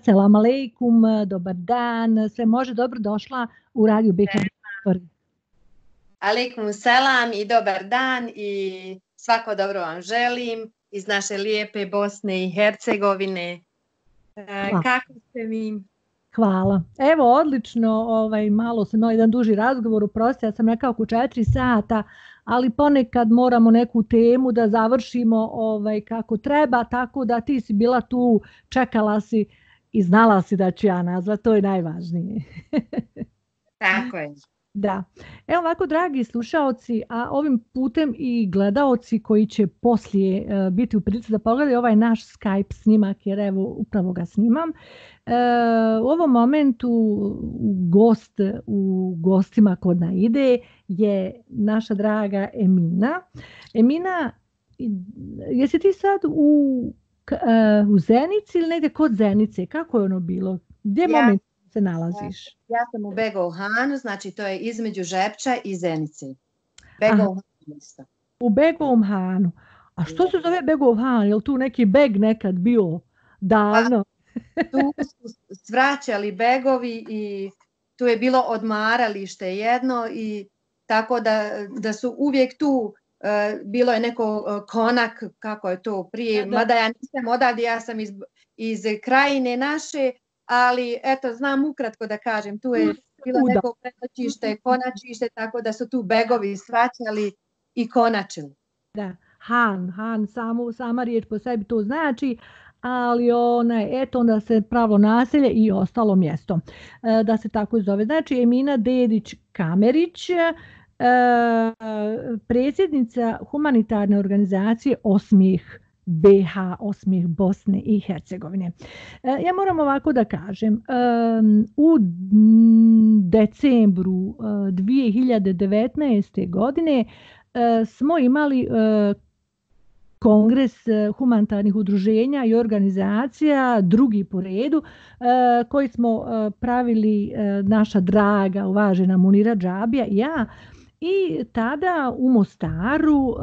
Selam aleikum, dobar dan, sve može, dobro došla u Radio BH. Aleikum selam i dobar dan i svako dobro vam želim iz naše lijepe Bosne i Hercegovine. Kako ste mi? Hvala. Evo, odlično, malo sam imala jedan duži razgovor, oprosti, ja sam rekao oko 4 sata, ali ponekad moramo neku temu da završimo kako treba, tako da ti si bila tu, čekala si i znala si da ću ja nazvati, to je najvažnije. Tako je. Da. Evo ovako, dragi slušaoci, a ovim putem i gledaoci koji će poslije biti u prilici da pogledaju ovaj naš Skype snimak, jer evo upravo ga snimam. U ovom momentu gost u gostima kod Naide je naša draga Emina. Emina, jesi ti sad u Zenici ili negdje kod Zenice? Kako je ono bilo? Gdje moment se nalaziš? Ja sam u Begovu Hanu, znači to je između Žepča i Zenice. Begovu Hanu. U Begovom Hanu. A što se zove Begov Han? Je li tu neki beg nekad bio davno? Tu su svraćali begovi i tu je bilo odmaralište jedno i tako da su uvijek tu, bilo je neko konak, kako je to prije, mada ja nisam odavde, ja sam iz krajine naše, ali eto, znam ukratko da kažem, tu je bilo neko prenoćište, konačište, tako da su tu begovi svraćali i konačili. Da, Han, sama riječ po sebi to znači, ali eto onda se pravilo naselje i ostalo mjesto, da se tako zove. Znači Emina Dedić-Kamerić, predsjednica humanitarne organizacije Osmijeh BH, Osmijeh Bosne i Hercegovine. Ja moram ovako da kažem, u decembru 2019. godine smo imali Kongres humanitarnih udruženja i organizacija, drugi po redu, koji smo pravili naša draga, uvažena Munira Džabija i ja. I tada u Mostaru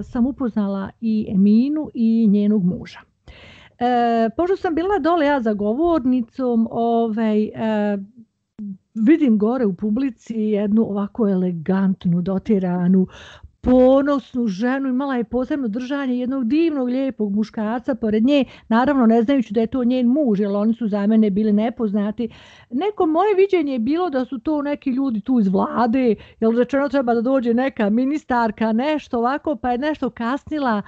sam upoznala i Eminu i njenog muža. Pošto sam bila dole ja za govornicom, vidim gore u publici jednu ovako elegantnu, dotiranu, ponosnu ženu, imala je posebno držanje jednog divnog, lijepog muškarca pored nje, naravno ne znajući da je to njen muž, jer oni su za mene bili nepoznati. Neko moje viđenje je bilo da su to neki ljudi tu iz vlade, jer rečeno treba da dođe neka ministarka, nešto ovako, pa je nešto kasnila,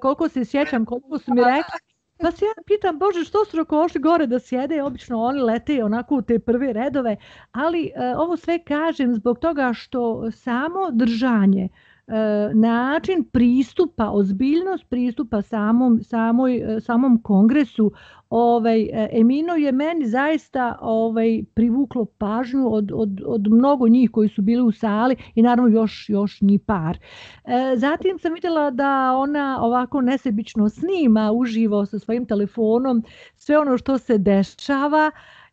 koliko se sjećam, koliko su mi rekli. Pa se ja pitam, Bože, što su rokošli gore da sjede, obično oni lete onako u te prve redove, ali ovo sve kažem zbog toga što samo držanje, način pristupa, ozbiljnost pristupa samom kongresu, Emino je meni zaista privuklo pažnju od mnogo njih koji su bili u sali i naravno još ni par. Zatim sam vidjela da ona ovako nesebično snima uživo sa svojim telefonom sve ono što se dešava.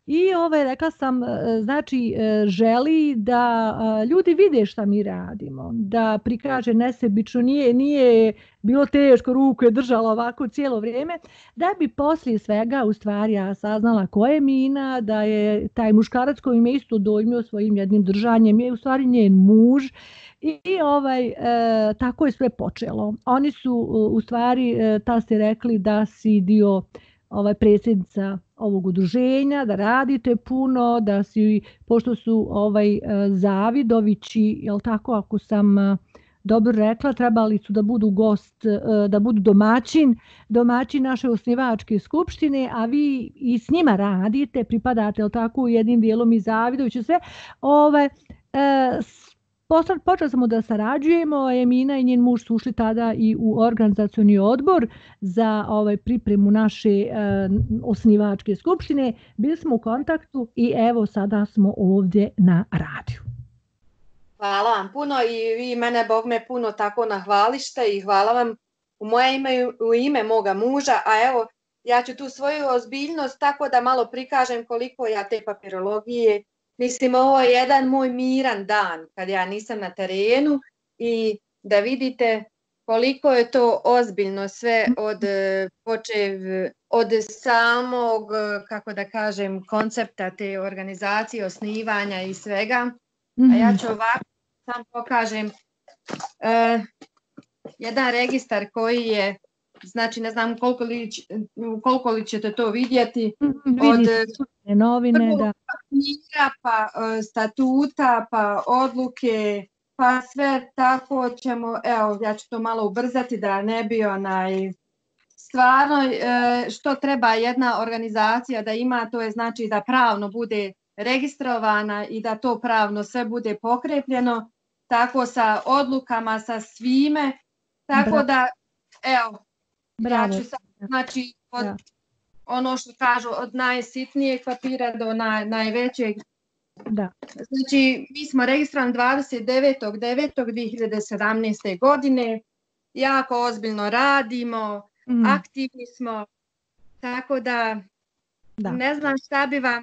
I rekla sam, znači želi da ljudi vide šta mi radimo, da prikaže nesebično, nije bilo teško, ruku je držala ovako cijelo vrijeme, da bi poslije svega u stvari ja saznala ko je Mina, da je taj muškarac koji me isto dojmio svojim jednim držanjem, je u stvari njen muž. I tako je sve počelo. Oni su u stvari, ta ste rekli da si dio predsjednica ovog udruženja, da radite puno, da si, pošto su Zavidovići, jel tako, ako sam dobro rekla, trebali su da budu gost, da budu domaćin naše osnivačke skupštine, a vi i s njima radite, pripadate, jel tako, jednim dijelom i Zavidovići, sve, počeli smo da sarađujemo, Emina i njen muž su ušli tada i u organizacioni odbor za pripremu naše osnivačke skupštine. Bili smo u kontaktu i evo sada smo ovdje na radiju. Hvala vam puno i vi mene, Bog me, puno tako nahvalište i hvala vam u moje ime i u ime moga muža, a evo ja ću tu svoju ozbiljnost tako da malo prikažem koliko ja te papirologije. Mislim, ovo je jedan moj miran dan kad ja nisam na terenu i da vidite koliko je to ozbiljno sve od samog, kako da kažem, koncepta te organizacije, osnivanja i svega. A ja ću ovako sam pokažem jedan registar koji je, znači ne znam koliko li ćete to vidjeti, od novine, da. Papira, pa statuta, pa odluke, pa sve tako ćemo, evo ja ću to malo ubrzati da ne bi stvarno što treba jedna organizacija da ima, to je znači da pravno bude registrovana i da to pravno sve bude pokrepljeno, tako sa odlukama, sa svime, tako da, evo, ja ću sad, znači, ono što kažu, od najsitnijeg papira do najvećeg. Da. Znači, mi smo registrovani 29.9.2017. godine, jako ozbiljno radimo, aktivni smo, tako da ne znam šta bi vam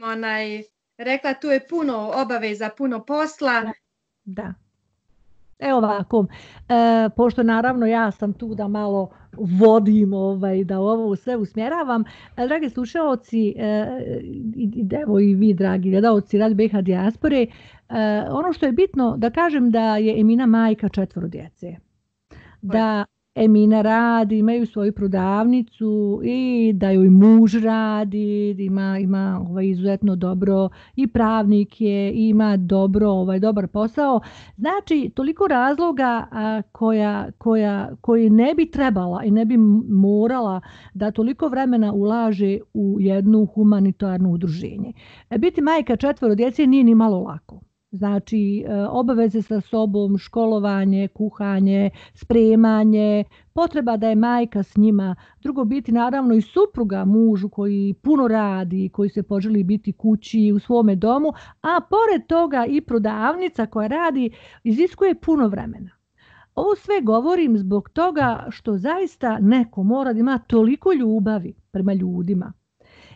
rekla, tu je puno obaveza, puno posla. Da. Evo ovako, pošto naravno ja sam tu da malo vodim, da ovo sve usmjeravam, dragi slušaoci, evo i vi dragi gledalci Radio BiH Dijaspore, ono što je bitno da kažem da je Emina majka 4 djece, da Emina radi, imaju svoju prodavnicu i da joj muž radi, ima izuzetno dobro i pravnik je, ima dobar posao. Znači, toliko razloga koji ne bi trebala i ne bi morala da toliko vremena ulaže u jednu humanitarno udruženje. Biti majka 4 djece nije ni malo lako. Znači, obaveze sa sobom, školovanje, kuhanje, spremanje, potreba da je majka s njima, drugo biti naravno i supruga mužu koji puno radi, koji se poželi biti kući u svome domu, a pored toga i prodavnica koja radi iziskuje puno vremena. Ovo sve govorim zbog toga što zaista neko mora da ima toliko ljubavi prema ljudima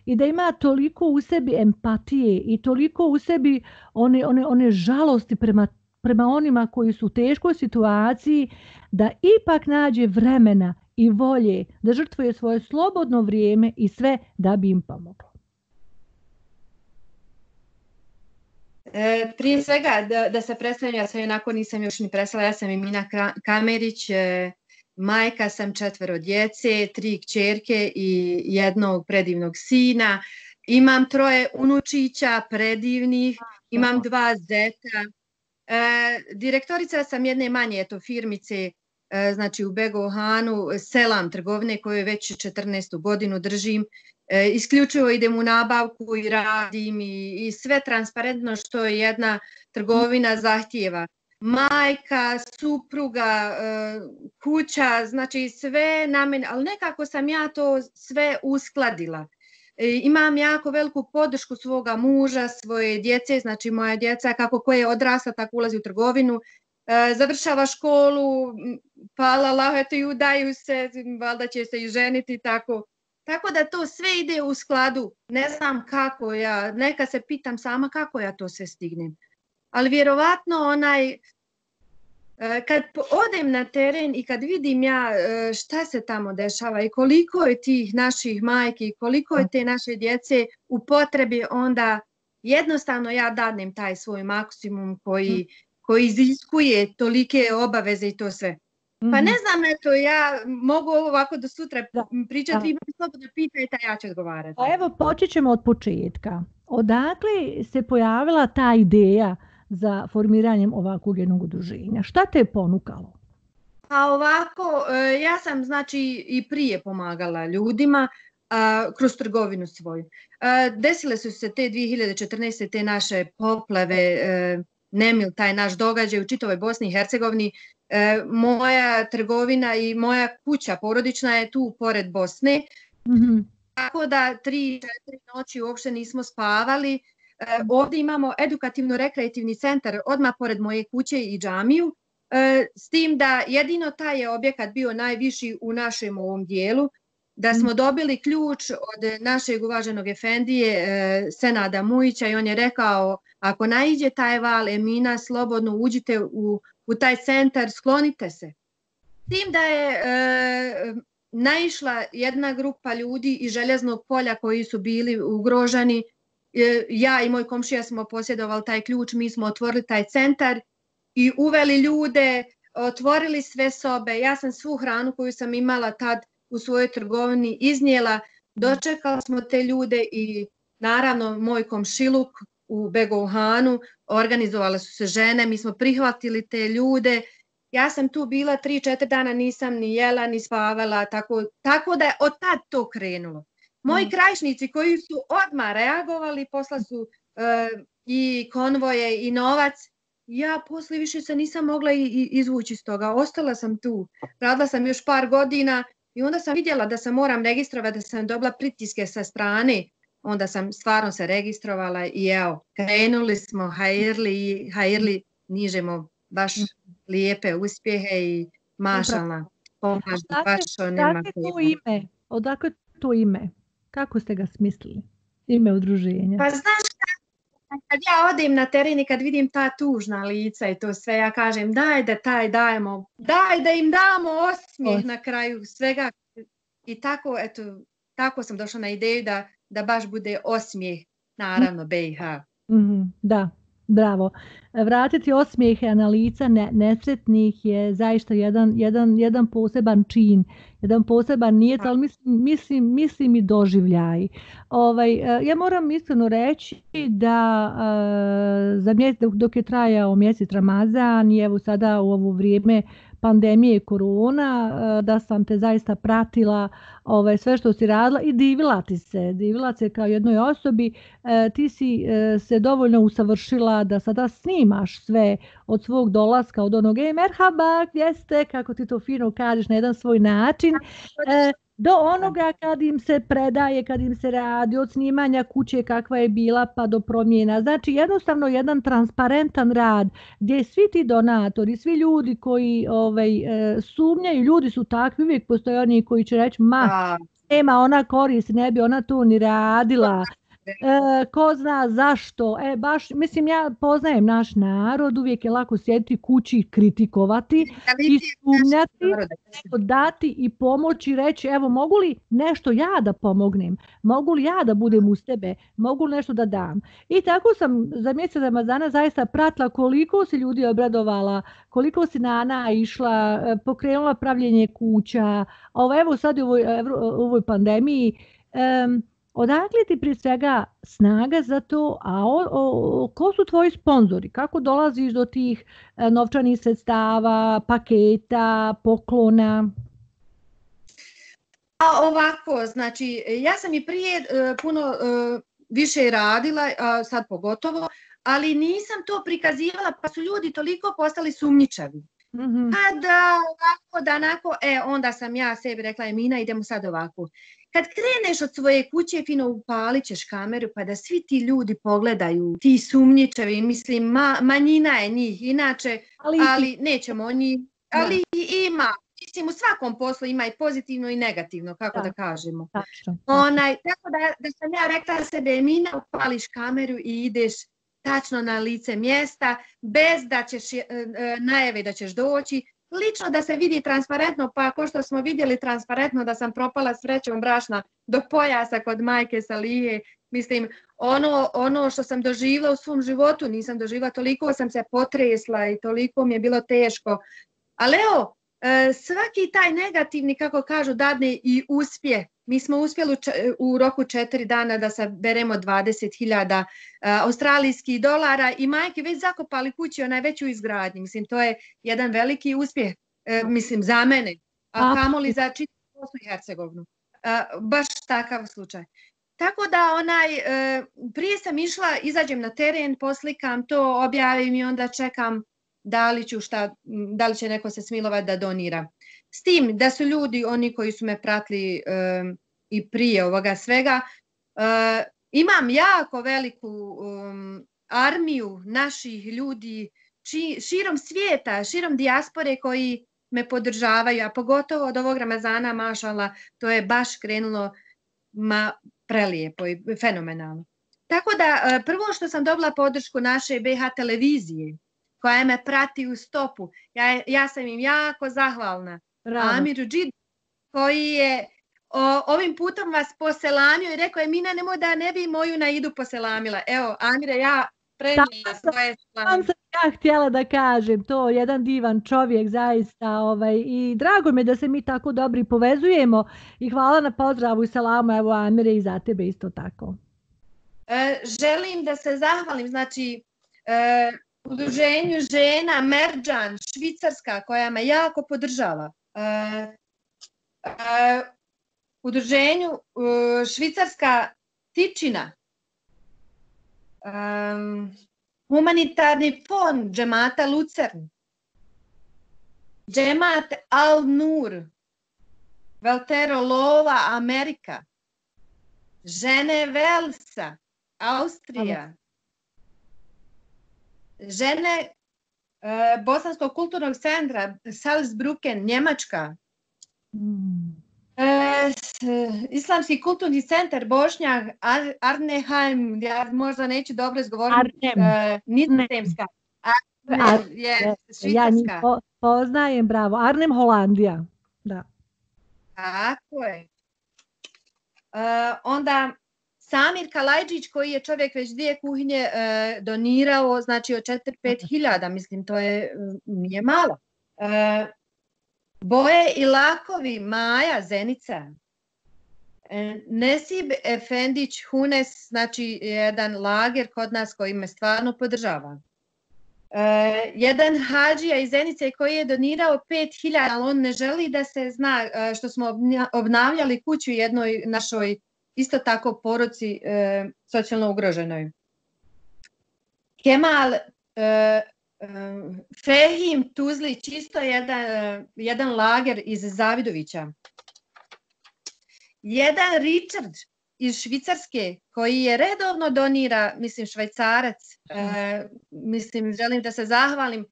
i da ima toliko u sebi empatije i toliko u sebi one žalosti prema onima koji su u teškoj situaciji, da ipak nađe vremena i volje da žrtvuje svoje slobodno vrijeme i sve da bi im pomoglo. Prije svega da se predstavim, ja sam onako nisam još ni predstavila, ja sam Emina Kamerić, majka sam 4 djece, 3 kćerke i 1 predivnog sina. Imam 3 unučića predivnih, imam 2 zeta. Direktorica sam jedne manje firmice, znači u Begohanu, Selam trgovine koju već 14. godinu držim. Isključivo idem u nabavku i radim i sve transparentno što je jedna trgovina zahtijeva. Majka, supruga, kuća, znači sve na mene, ali nekako sam ja to sve uskladila. Imam jako veliku podršku svoga muža, svoje djece, znači moja djeca kako koje odrasta tako ulazi u trgovinu, završava školu, hvala Allahu, eto i udaju se, valjda će se i ženiti tako. Tako da to sve ide u skladu, ne znam kako ja, neka se pitam sama kako ja to sve stignem. Ali vjerovatno kad odem na teren i kad vidim ja šta se tamo dešava i koliko je tih naših majki, koliko je te naše djece u potrebi, onda jednostavno ja dadnem taj svoj maksimum koji iziskuje tolike obaveze i to sve. Pa ne znam, eto, ja mogu ovako do sutra pričati, vi me slobodno pitajte, a ja ću odgovarati. Pa evo, počet ćemo od početka. Odakle se pojavila ta ideja za formiranjem ovakvog jednog udruženja? Šta te je ponukalo? Pa ovako, ja sam znači i prije pomagala ljudima kroz trgovinu svoju. Desile su se te 2014. te naše poplave, nemil, taj naš događaj u čitavoj Bosni i Hercegovini. Moja trgovina i moja kuća porodična je tu pored Bosne. Tako da 3-4 noći uopšte nismo spavali. Ovdje imamo edukativno-rekreativni centar odmah pored moje kuće i džamiju. S tim da jedino taj je objekat bio najviši u našem ovom dijelu. Da smo dobili ključ od našeg uvaženog efendije Senada Mujića i on je rekao, ako naiđe taj val, Emina, slobodno uđite u taj centar, sklonite se. tim da je naišla jedna grupa ljudi iz Željeznog polja koji su bili ugroženi. Ja i moj komšija smo posjedovali taj ključ, mi smo otvorili taj centar i uveli ljude, otvorili sve sobe. Ja sam svu hranu koju sam imala tad u svojoj trgovini iznijela, dočekali smo te ljude i naravno moj komšiluk u Begovhanu, organizovale su se žene, mi smo prihvatili te ljude. Ja sam tu bila 3-4 dana, nisam ni jela, ni spavala, tako da je od tad to krenulo. Moji krajišnici koji su odmah reagovali, posla su i konvoje i novac, ja poslije više se nisam mogla izvući iz toga. Ostala sam tu, radila sam još par godina i onda sam vidjela da se moram registrovati, da sam dobila pritiske sa strane. Onda sam stvarno se registrovala i evo, krenuli smo, hajirli, nižemo baš lijepe uspjehe i mašalna pomažu baš onima. Odakle to ime? Kako ste ga smislili? Ime udruženja? Pa znaš kad ja odem na teren i kad vidim ta tužna lica i to sve, ja kažem daj da im damo osmijeh na kraju svega. I tako, eto, tako sam došla na ideju da baš bude osmijeh, naravno, BiH. Da, bravo. Vratiti osmijehe na lica nesretnih je zaista jedan poseban čin, jedan poseban nijec, ali mislim i doživljaj. Ja moram iskreno reći da dok je trajao mjesec Ramazan i evo sada u ovo vrijeme pandemije korona, da sam te zaista pratila sve što si radila i divila se kao jednoj osobi. Ti si se dovoljno usavršila da sada snimaš sve od svog dolaska, od onog merhaba, gdje ste, kako ti to fino kažeš na jedan svoj način, do onoga kad im se predaje, kad im se radi, od snimanja kuće kakva je bila pa do promjena. Znači jednostavno jedan transparentan rad gdje svi ti donatori, svi ljudi koji sumnjaju, ljudi su takvi, uvijek postoje oni koji će reći nema ona korist, ne bi ona to ni radila. Ko zna zašto, mislim ja poznajem naš narod, uvijek je lako sjediti kući i kritikovati i sumnjati, dati i pomoći, reći evo mogu li nešto ja da pomognem, mogu li ja da budem uz tebe, mogu li nešto da dam. I tako sam za mjesec Ramazana zaista pratila koliko si ljudi obradovala, koliko si Nana išla, pokrenula pravljenje kuća, evo sad u ovoj pandemiji. Odakle ti prije svega snaga za to, a ko su tvoji sponzori? Kako dolaziš do tih novčanih sredstava, paketa, poklona? Ovako, znači ja sam i prije puno više radila, sad pogotovo, ali nisam to prikazivala pa su ljudi toliko postali sumnjičavi. Pa da ovako, da onako, onda sam ja sebi rekla Emina idemo sad ovako. Kad kreneš od svoje kuće, fino upalit ćeš kameru pa da svi ti ljudi pogledaju, ti sumnjičevi, mislim manjina je njih, inače, ali nećemo oni, ali ima, mislim u svakom poslu ima i pozitivno i negativno, kako da kažemo. Tako da sam ja rekla sebe Emina, upališ kameru i ideš tačno na lice mjesta, bez da ćeš najave da ćeš doći, lično da se vidi transparentno, pa ako što smo vidjeli transparentno da sam propala s vrećom brašna do pojasa kod majke Salije, mislim, ono što sam doživjela u svom životu, nisam doživjela, toliko sam se potresla i toliko mi je bilo teško. Ali evo, svaki taj negativni, kako kažu, dadne i uspjeh. Mi smo uspjeli u roku 4 dana da saberemo 20.000 australijskih dolara i majke već zakopali kući, ona je već u izgradnji. Mislim, to je jedan veliki uspjeh, mislim, za mene, a kamoli za čitavu Bosnu i Hercegovinu. Baš takav slučaj. Tako da prije sam išla, izađem na teren, poslikam to, objavim i onda čekam da li će neko se smilovati da donira. S tim da su ljudi, oni koji su me pratili i prije ovoga svega, imam jako veliku armiju naših ljudi širom svijeta, širom dijaspore koji me podržavaju, a pogotovo od ovog Ramazana, mašala, to je baš krenulo prelijepo i fenomenalno. Tako da prvo što sam dobila podršku naše BiH televizije, koja me prati u stopu, ja sam im jako zahvalna. Amiru Džidu, koji je ovim putom vas poselamio i rekao je Mina nemoj da ne bi moju Naidu poselamila. Evo, Amire, ja prenijela svoje Sam sam ja htjela da kažem, to jedan divan čovjek zaista i drago mi je da se mi tako dobri povezujemo i hvala na pozdravu i salamu, evo Amire i za tebe isto tako. Želim da se zahvalim, znači udruženju žena Merđan, Švicarska, koja me jako podržava. Udruženju Švicarska Tičina, humanitarni fond Džemata Lucern, Džemat Al-Nur, Valtero Lova, Amerika, žene Velsa, Austrija, žene Bosanskog kulturnog centra Salzbrücken, Njemačka, Islamski kulturni centar Bošnjak Arnhem, ja možda neću dobro izgovoriti, Nizozemska, Švicarska. Ja njih poznajem, bravo, Arnhem, Holandija. Da. Tako je. Onda Samir Kalajđić, koji je čovjek već 2 kuhinje donirao, znači od 4-5 hiljada, mislim, to nije malo. Boje i lakovi, Maja, Zenica. Nesib Efendić Hunes, znači jedan lager kod nas koji me stvarno podržava. Jedan hađija iz Zenice koji je donirao 5.000, ali on ne želi da se zna što smo obnavljali kuću jednoj našoj isto tako porodci socijalno ugroženoj. Kemal Fehim Tuzlić, isto jedan lager iz Zavidovića. Jedan Richard iz Švicarske koji je redovno donira, mislim Švajcarac, mislim želim da se zahvalim.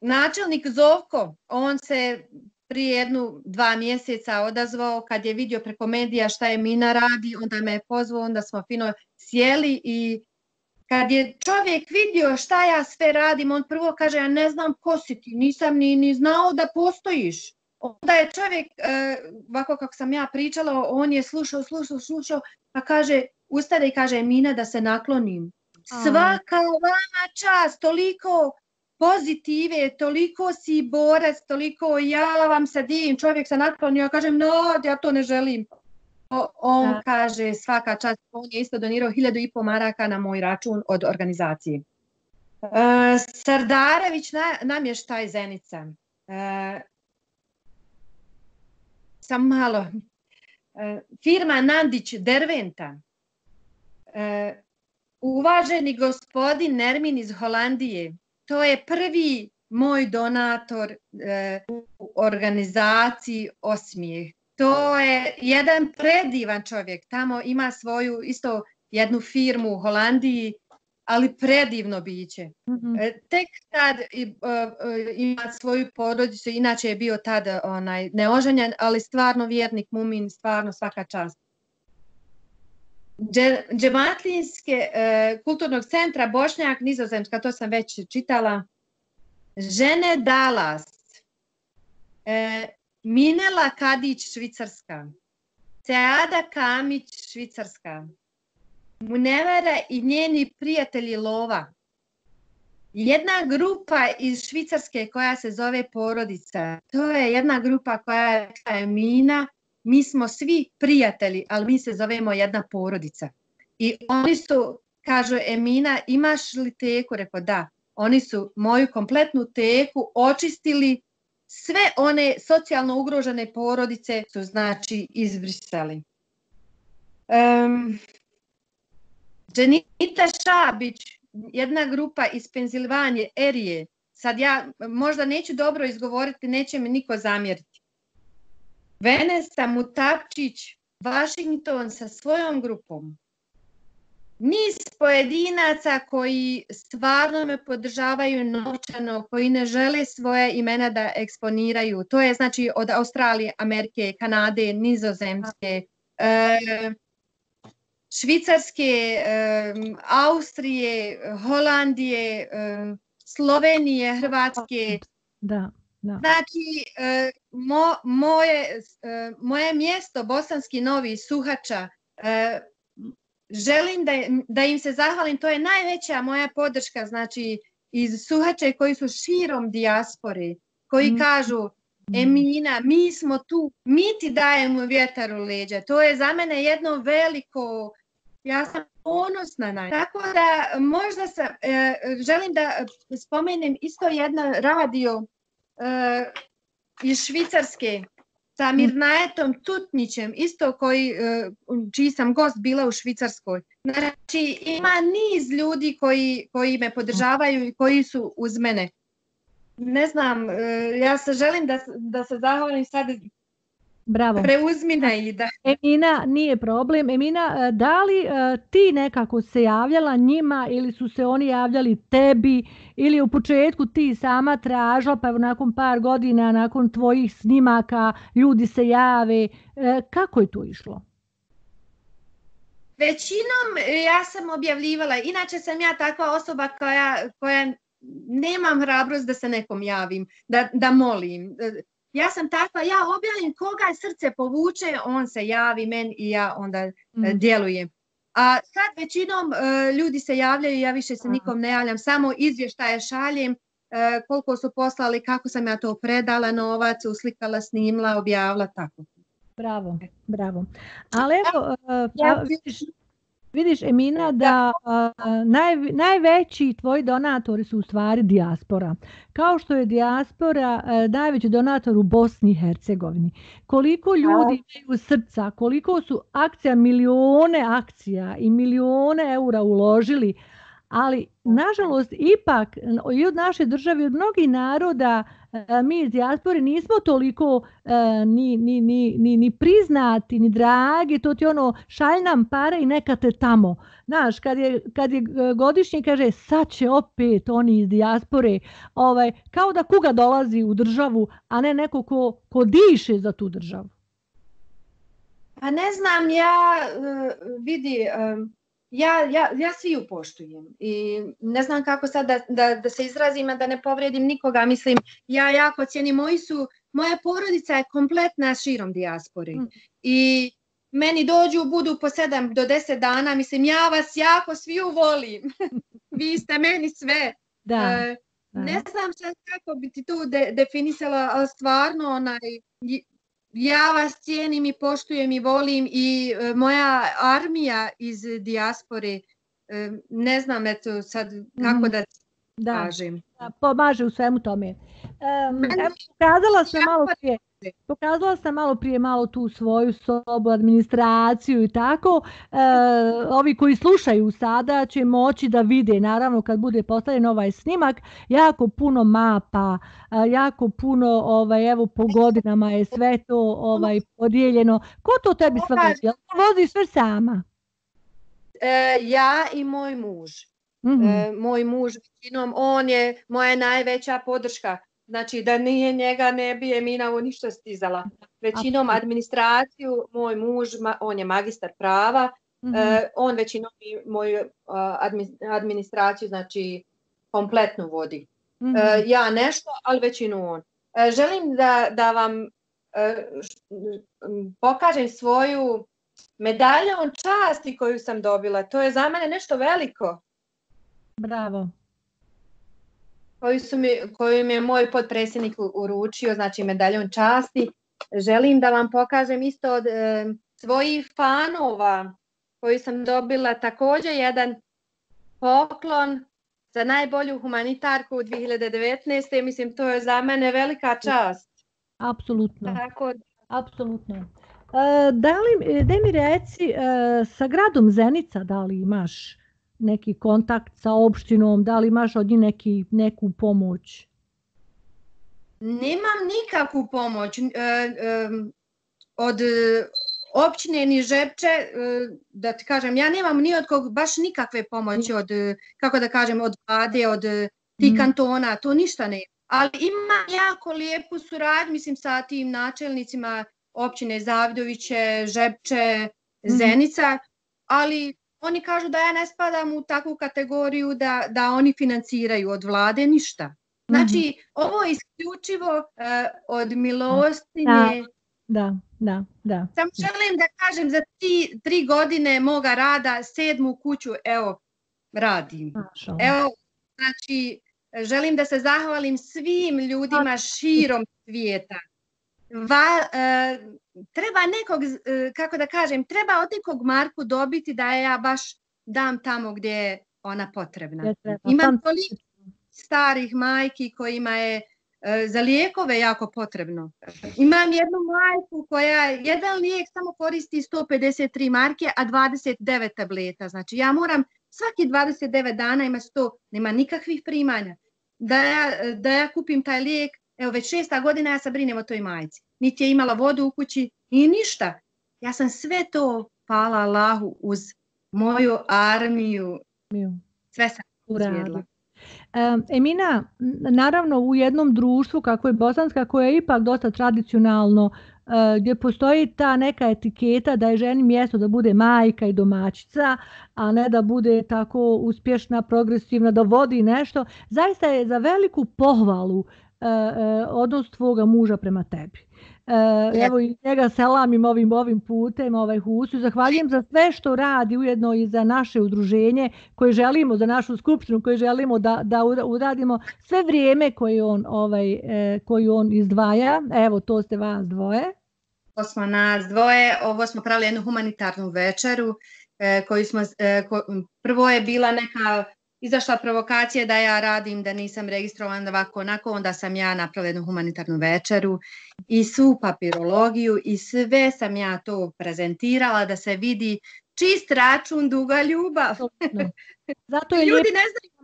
Načelnik Zovko, on se prije 1-2 mjeseca odazvao kad je vidio preko medija šta je Mina radi, onda me je pozvao, onda smo fino sjeli i kad je čovjek vidio šta ja sve radim, on prvo kaže ja ne znam ko si ti, nisam ni znao da postojiš. Onda je čovjek, ovako kako sam ja pričala, on je slušao, pa kaže, ustade i kaže Mina da se naklonim. Svaka vama čast, toliko pozitive, toliko si borac, toliko ja vam se divim, čovjek se naklonio, ja kažem no, ja to ne želim. On kaže svaka čast, on je isto donirao 1.500 maraka na moj račun od organizacije. Sardarević namještaj Zenica. Sam malo. Firma Nandić Derventa. Uvaženi gospodin Nermin iz Holandije. To je prvi moj donator u organizaciji Osmijeh. To je jedan predivan čovjek. Tamo ima svoju isto jednu firmu u Holandiji, ali predivno biće. Tek tad ima svoju porodicu, inače je bio tad neoženjen, ali stvarno vjernik mumin, stvarno svaka čast. Džematlinske kulturnog centra Bošnjak, Nizozemska, to sam već čitala. Žene Dallas. Minela Kadić, Švicarska. Seada Kamić, Švicarska. Munevera i njeni prijatelji Lova. Jedna grupa iz Švicarske koja se zove Porodica. To je jedna grupa koja je Mina. Mi smo svi prijatelji, ali mi se zovemo jedna porodica. I oni su, kažu Emina, imaš li teku? Rekao da. Oni su moju kompletnu teku očistili. Sve one socijalno ugrožene porodice su znači izbrisali. Dženita Šabić, jedna grupa iz Pensilvanije, Erije. Sad ja možda neću dobro izgovoriti, neće mi niko zamjeriti. Venesa Mutapčić, Washington sa svojom grupom. Niz pojedinaca koji stvarno me podržavaju novčano, koji ne žele svoje imena da eksponiraju. To je znači od Australije, Amerike, Kanade, Nizozemske, Švicarske, Austrije, Holandije, Slovenije, Hrvatske. Da. Znači, moje mjesto Bosanski Novi, Suhača, želim da im se zahvalim, to je najveća moja podrška, znači iz Suhače koji su širom dijaspore, koji kažu Emina, mi smo tu, mi ti dajemo vjetar u leđa, to je za mene jedno veliko, ja sam ponosna na. Tako da možda želim da spomenem isto jedan radio iz Švicarske sa Mirnajetom Tutnićem, isto čiji sam gost bila u Švicarskoj. Znači ima niz ljudi koji me podržavaju i koji su uz mene. Ne znam, ja se želim da se zahvalim sad. Bravo. Preuzmi na Ida. Emina, nije problem. Emina, da li ti nekako se javljala njima ili su se oni javljali tebi ili u početku ti sama tražila pa nakon par godina, nakon tvojih snimaka ljudi se jave? Kako je to išlo? Većinom ja sam objavljivala. Inače sam ja takva osoba koja nemam hrabrost da se nekom javim, da molim. Ja sam takva, ja objavim koga srce povuče, on se javi meni i ja onda djelujem. A sad većinom ljudi se javljaju, ja više se nikom ne javljam, samo izvještaje šaljem, koliko su poslali, kako sam ja to predala novac, uslikala, snimla, objavila, tako. Bravo, bravo. Ali evo, vidiš Emina da najveći tvoji donatori su u stvari dijaspora. Kao što je dijaspora najveći donator u Bosni i Hercegovini. Koliko ljudi imaju srca, koliko su milione akcija i milione eura uložili, ali nažalost ipak i od naše države, od mnogih naroda, mi iz dijaspore nismo toliko ni priznati, ni dragi, to ti šalj nam pare i neka te tamo. Znaš, kad je godišnji kaže sad će opet oni iz dijaspore, kao da kuga dolazi u državu, a ne neko ko diše za tu državu. Pa ne znam, vidi... Ja sviju poštujem i ne znam kako sad da se izrazim, a da ne povredim nikoga. Mislim, ja jako cijenim, moja porodica je kompletna širom dijaspore i meni budu po 7 do 10 dana, mislim, ja vas jako sviju volim. Vi ste meni sve. Ne znam sad kako bi ti tu definisala, ali stvarno ja vas cijenim i poštujem i volim i moja armija iz dijaspore, ne znam eto sad kako da kažem. Pomaže u svemu tome. Pokazala sam malo prije tu svoju sobu, administraciju i tako. Ovi koji slušaju sada će moći da vide, naravno kad bude postavljen ovaj snimak, jako puno mapa, jako puno, evo po godinama je sve to podijeljeno. Ko to tebi sve vozi? Voziš sve sama? Ja i moj muž. Moj muž, on je moja najveća podrška. Znači da nije njega ne bi Emina ništa stizala. Većinom administraciju, moj muž, on je magistar prava, on većinom moju administraciju znači kompletno vodi. Ja nešto, ali većinu on. Želim da vam pokažem svoju medaljom časti koju sam dobila. To je za mene nešto veliko. Bravo. Koju mi je moj potpredsjednik uručio, znači medaljom časti. Želim da vam pokažem isto od svojih fanova koju sam dobila također jedan poklon za najbolju humanitarku u 2019. Mislim, to je za mene velika čast. Apsolutno. Apsolutno. Daj mi reci, sa gradom Zenica da li imaš neki kontakt sa opštinom, da li imaš od njih neku pomoć? Nemam nikakvu pomoć od općine ni Žepče, da ti kažem, ja nemam ni od kog baš nikakve pomoći od, kako da kažem, od vlade, od tih kantona, to ništa ne. Ali imam jako lijepu suradnju, mislim, sa tim načelnicima općine Zavidoviće, Žepče, Zenica, ali oni kažu da ja ne spadam u takvu kategoriju da oni financiraju od vlade ništa. Znači, ovo je isključivo od milostinje. Da. Samo želim da kažem, za 3 godine moga rada, 7. kuću, evo, radim. Evo, znači, želim da se zahvalim svim ljudima širom svijeta. Treba nekog, kako da kažem, treba od nekog marku dobiti da ja baš dam tamo gdje je ona potrebna. Imam toliko starih majki kojima je za lijekove jako potrebno. Imam jednu majku koja jedan lijek samo koristi 153 marke, a 29 tableta. Znači ja moram svaki 29 dana ima 100, nema nikakvih primanja. Da ja kupim taj lijek, evo već 6. godina ja se brinem o toj majci. Niti je imala vodu u kući i ništa. Ja sam sve to, hvala Allahu, uz moju armiju, sve sam izvjedla. Emina, naravno u jednom društvu kako je bosanska, koje je ipak dosta tradicionalno, gdje postoji ta neka etiketa da je ženi mjesto da bude majka i domaćica, a ne da bude tako uspješna, progresivna, da vodi nešto, zaista je za veliku pohvalu odnos tvoga muža prema tebi. Evo i njega selamim ovim putem, Husu, zahvaljujem za sve što radi, ujedno i za naše udruženje koje želimo, za našu skupštinu koje želimo da uradimo sve vrijeme koje on izdvaja. Evo, to ste vas dvoje. To smo nas dvoje, ovo smo pravili jednu humanitarnu večeru koju smo, prvo je bila neka izašla provokacija da ja radim, da nisam registrovana ovako onako, onda sam ja napravila jednu humanitarnu večeru i svu papirologiju i sve sam ja to prezentirala da se vidi čist račun, duga ljubav. Ljudi ne znaju.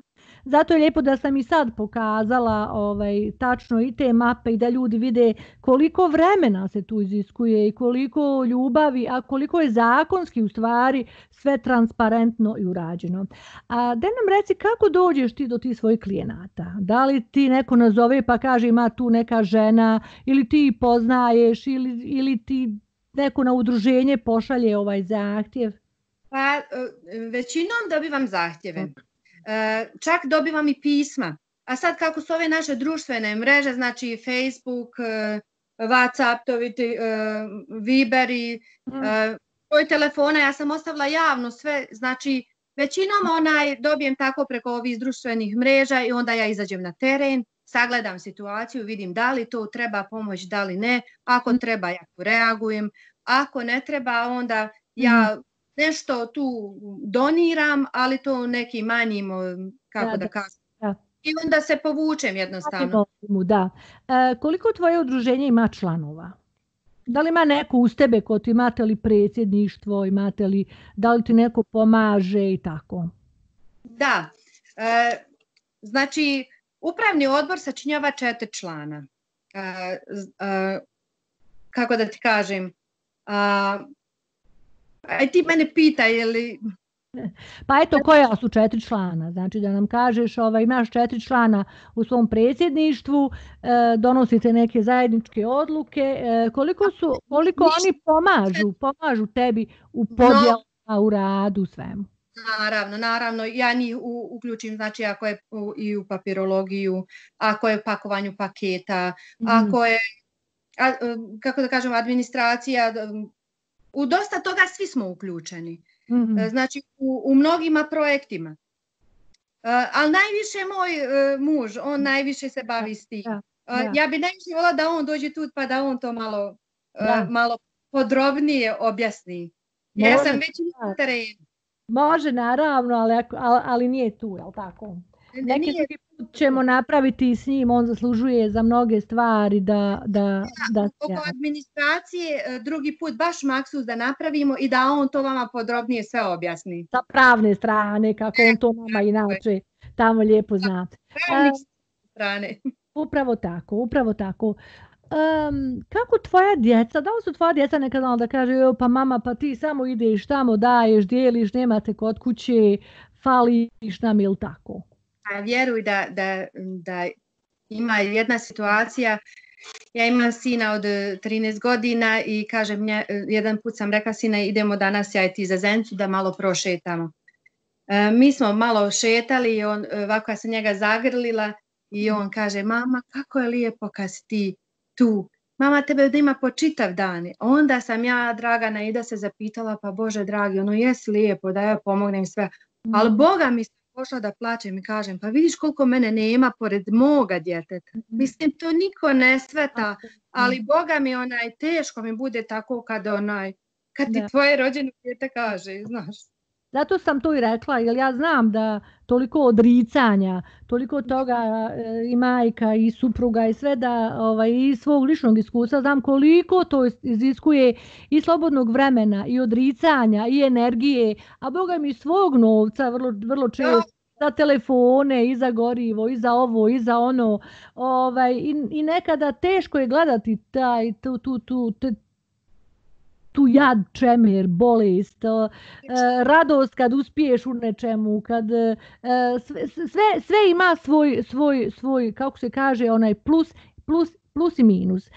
Zato je lijepo da sam i sad pokazala tačno i te mape i da ljudi vide koliko vremena se tu iziskuje i koliko ljubavi, a koliko je zakonski u stvari sve transparentno i urađeno. A da nam reci kako dođeš ti do tih svojih klijenata? Da li ti neko nazove pa kaže ima tu neka žena ili ti poznaješ ili ti neko na udruženje pošalje ovaj zahtjev? Pa većinom dobivam zahtjeve. Čak dobivam i pisma. A sad kako su ove naše društvene mreže, znači Facebook, WhatsApp, Viber i broj telefona, ja sam ostavila javno sve, znači većinom dobijem tako preko ovih društvenih mreža i onda ja izađem na teren, sagledam situaciju, vidim da li to treba pomoć, da li ne, ako treba ja tu reagujem, ako ne treba onda ja nešto tu doniram, ali to neki manjim, kako da kažem. I onda se povučem jednostavno. Da. Koliko tvoje udruženje ima članova? Da li ima neko uz tebe, imate li predsjedništvo, da li ti neko pomaže i tako? Da. Znači, upravni odbor sačinjava 4 člana. Kako da ti kažem? Aj ti mene pitaj, je li... Pa eto, koja su 4 člana? Znači da nam kažeš, imaš 4 člana u svom predsjedništvu, donosite neke zajedničke odluke, koliko oni pomažu tebi u podjelama, u radu, svemu? Naravno, ja njih uključim, znači ako je i u papirologiju, ako je u pakovanju paketa, ako je, kako da kažem, administracija, u dosta toga svi smo uključeni. Znači u mnogima projektima. Ali najviše moj muž, on najviše se bavi s tim. Ja bi najviše volila da on dođe tu pa da on to malo podrobnije objasni. Ja sam već na terenu. Može, naravno, ali nije tu, je li tako? Neki drugi put ćemo napraviti s njim, on zaslužuje za mnoge stvari oko administracije drugi put baš maksus da napravimo i da on to vama podrobnije sve objasni. Sa pravne strane, kako on to nama inače tamo lijepo zna. Pravne strane. Upravo tako. Kako tvoja djeca, da li su tvoja djeca nekad znala da kaže pa mama pa ti samo ideš tamo, daješ, dijeliš, nemate kod kuće, fališ nam ili tako? Vjeruj da ima jedna situacija, ja imam sina od 13 godina i kažem, jedan put sam rekla sina idemo danas ja i ti za Zencu da malo prošetamo. Mi smo malo šetali i ovako ja sam njega zagrlila I on kaže, mama, kako je lijepo kad si ti tu. Mama tebe da ima po čitav dan. Onda sam ja, draga Naida, se zapitala, pa Bože dragi, ono jesi lijepo da ja pomognem sve. Ali Boga mi se pošla da plačem i kažem, pa vidiš koliko mene nema pored moga djeteta. Mislim, to niko ne sveta, ali Boga mi teško mi bude tako kad ti tvoje rođeno djete kaže, znaš. Zato sam to i rekla, jer ja znam da toliko odricanja, toliko toga i majka i supruga i sve da i svog ličnog iskustva znam koliko to iziskuje i slobodnog vremena i odricanja i energije, a Boga mi svog novca vrlo često za telefone i za gorivo i za ovo i za ono i nekada teško je gledati tu jad, čemer, bolest, radost kad uspiješ u nečemu, kad sve ima svoj kako se kaže, onaj plus i minus.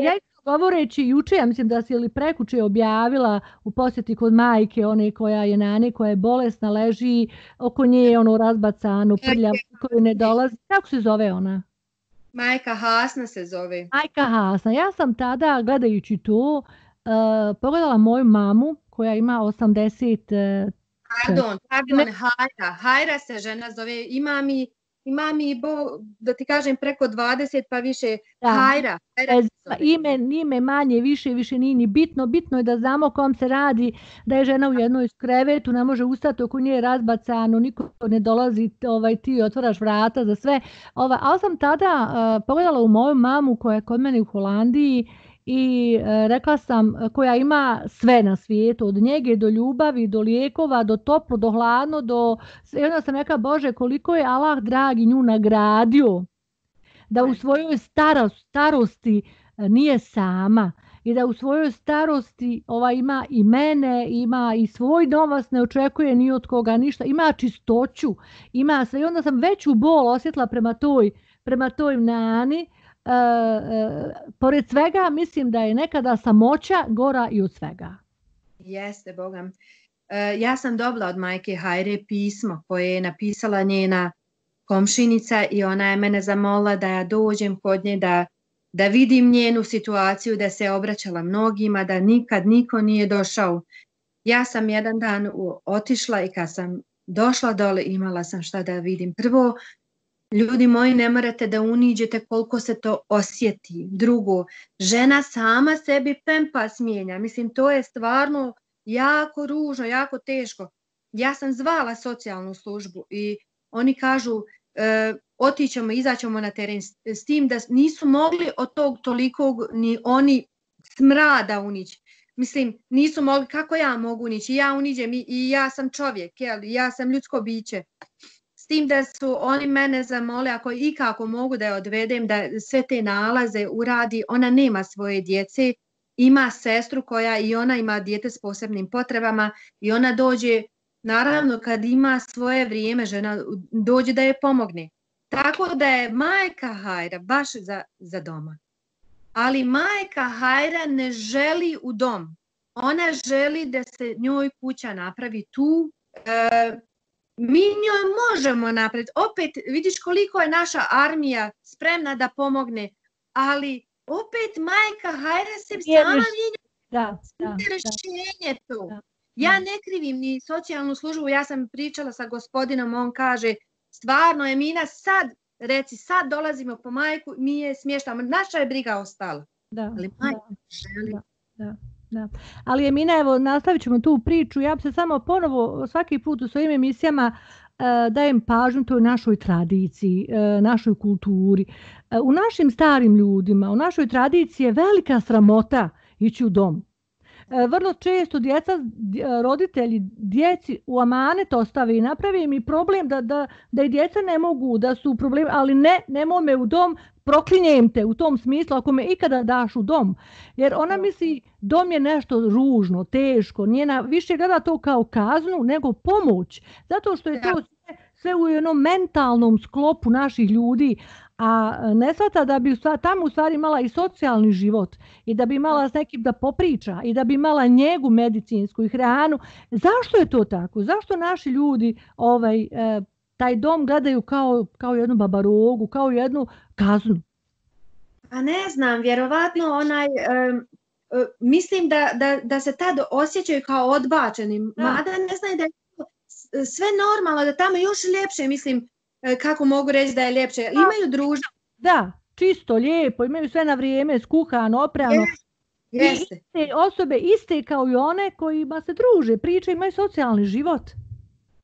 Ja govoreći juče, ja mislim da si ili prekuče objavila u posjeti kod majke, one koja je nane, koja je bolesna, leži oko nje, razbacano, prljavo, koju ne dolazi. Kako se zove ona? Majka Hasna se zove. Majka Hasna. Ja sam tada, gledajući to, pogledala moju mamu koja ima 80... Pardon, Hajra se žena zove, ima mi da ti kažem preko 20 pa više Hajra. Ime manje, više nije ni bitno, bitno je da znamo o kom se radi, da je žena u jednoj krevetu, ne može ustati, oko nje je razbacano, niko ne dolazi, ti otvaraš vrata za sve. Ali sam tada pogledala u moju mamu koja je kod mene u Holandiji i rekla sam, koja ima sve na svijetu, od njege do ljubavi, do lijekova, do toplo, do hladno, i onda sam rekla, Bože, koliko je Allah dragi nju nagradio da u svojoj starosti nije sama i da u svojoj starosti ima i mene, ima i svoj novac, ne očekuje ni od koga ništa, ima čistoću, ima sve i onda sam veću bol osjetila prema toj nani. Pored svega mislim da je nekada samoća gora i od svega. Jeste, Bogam. Ja sam dobila od majke Hajre pismo koje je napisala njena komšinica i ona je mene zamolila da ja dođem kod nje, da vidim njenu situaciju, da se obraćala mnogima, da nikad niko nije došao. Ja sam jedan dan otišla i kad sam došla dole imala sam šta da vidim. Prvo, ljudi moji, ne morate da uniđete koliko se to osjeti. Drugo, žena sama sebi pempas mijenja. Mislim, to je stvarno jako ružno, jako teško. Ja sam zvala socijalnu službu i oni kažu otićemo, izaćemo na teren s tim da nisu mogli od tog tolikog ni oni smrada unići. Mislim, nisu mogli, kako ja mogu unići? Ja uniđem i ja sam čovjek, ja sam ljudsko biće. S tim da su oni mene zamole, ako i kako mogu da je odvedem, da sve te nalaze uradi, ona nema svoje djece, ima sestru koja i ona ima dijete s posebnim potrebama i ona dođe, naravno kad ima svoje vrijeme, žena dođe da je pomogne. Tako da je majka Hajra baš za doma. Ali majka Hajra ne želi u dom. Ona želi da se njoj kuća napravi tu. Mi njoj možemo napraviti. Opet vidiš koliko je naša armija spremna da pomogne, ali opet majka Hajra se sama mijenja. Rješenje to. Ja ne krivim ni socijalnu službu, ja sam pričala sa gospodinom, on kaže, stvarno Emina sad dolazimo po majku, mi je smještamo, naša je briga ostala. Ali majka želi. Da. Ali Emina, evo, nastavit ćemo tu priču, ja bi se samo ponovo svaki put u svojim emisijama dajem pažnju toj našoj tradiciji, našoj kulturi. U našim starim ljudima, u našoj tradiciji je velika sramota ići u dom. Vrlo često roditelji djeci u amanet ostave i napravi mi problem da i djeca ne mogu, da su problemi, ali nemoj me u dom, proklinjem te u tom smislu ako me ikada daš u dom. Jer ona misli dom je nešto ružno, teško, njena više gleda to kao kaznu nego pomoć. Zato što je to sve u jednom mentalnom sklopu naših ljudi, a ne shvata da bi tamo u stvari imala i socijalni život i da bi imala s nekim da popriča i da bi imala njegu medicinsku i hranu. Zašto je to tako? Zašto naši ljudi taj dom gledaju kao jednu babarogu, kao jednu kaznu. Pa ne znam, vjerovatno mislim da se tad osjećaju kao odbačeni, mada ne znaju da je sve normalno, da tamo još ljepše, mislim, kako mogu reći da je ljepše. Imaju druženje. Da, čisto, lijepo, imaju sve na vrijeme, skuhano, oprano. Jeste. I te osobe iste kao i one kojima se druže, pričaju, imaju socijalni život.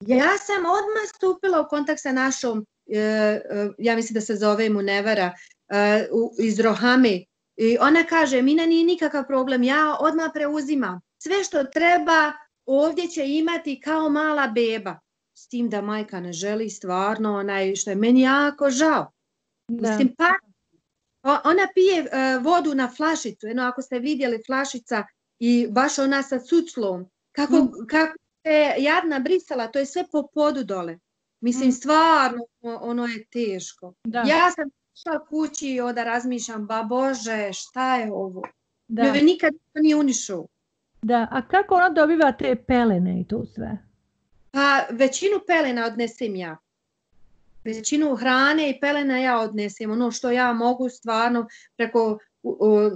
Ja sam odmah stupila u kontakt sa našom, ja mislim da se zove Munevara, iz Rohame. I ona kaže, Mina, nije nikakav problem, ja odmah preuzimam. Sve što treba ovdje će imati kao mala beba. S tim da majka ne želi stvarno, što je meni jako žao. Mislim, pa ona pije vodu na flašicu, ako ste vidjeli flašica i baš ona sa cuclom, kako je jadna brisala, to je sve po podu dole. Mislim, stvarno, ono je teško. Da. Ja sam išla kući i onda razmišljam, ba Bože, šta je ovo? Joj nikad nije unišao. Da, a kako ona dobiva te pelene i to sve? Pa većinu pelena odnesem ja. Većinu hrane i pelena ja odnesem. Ono što ja mogu stvarno preko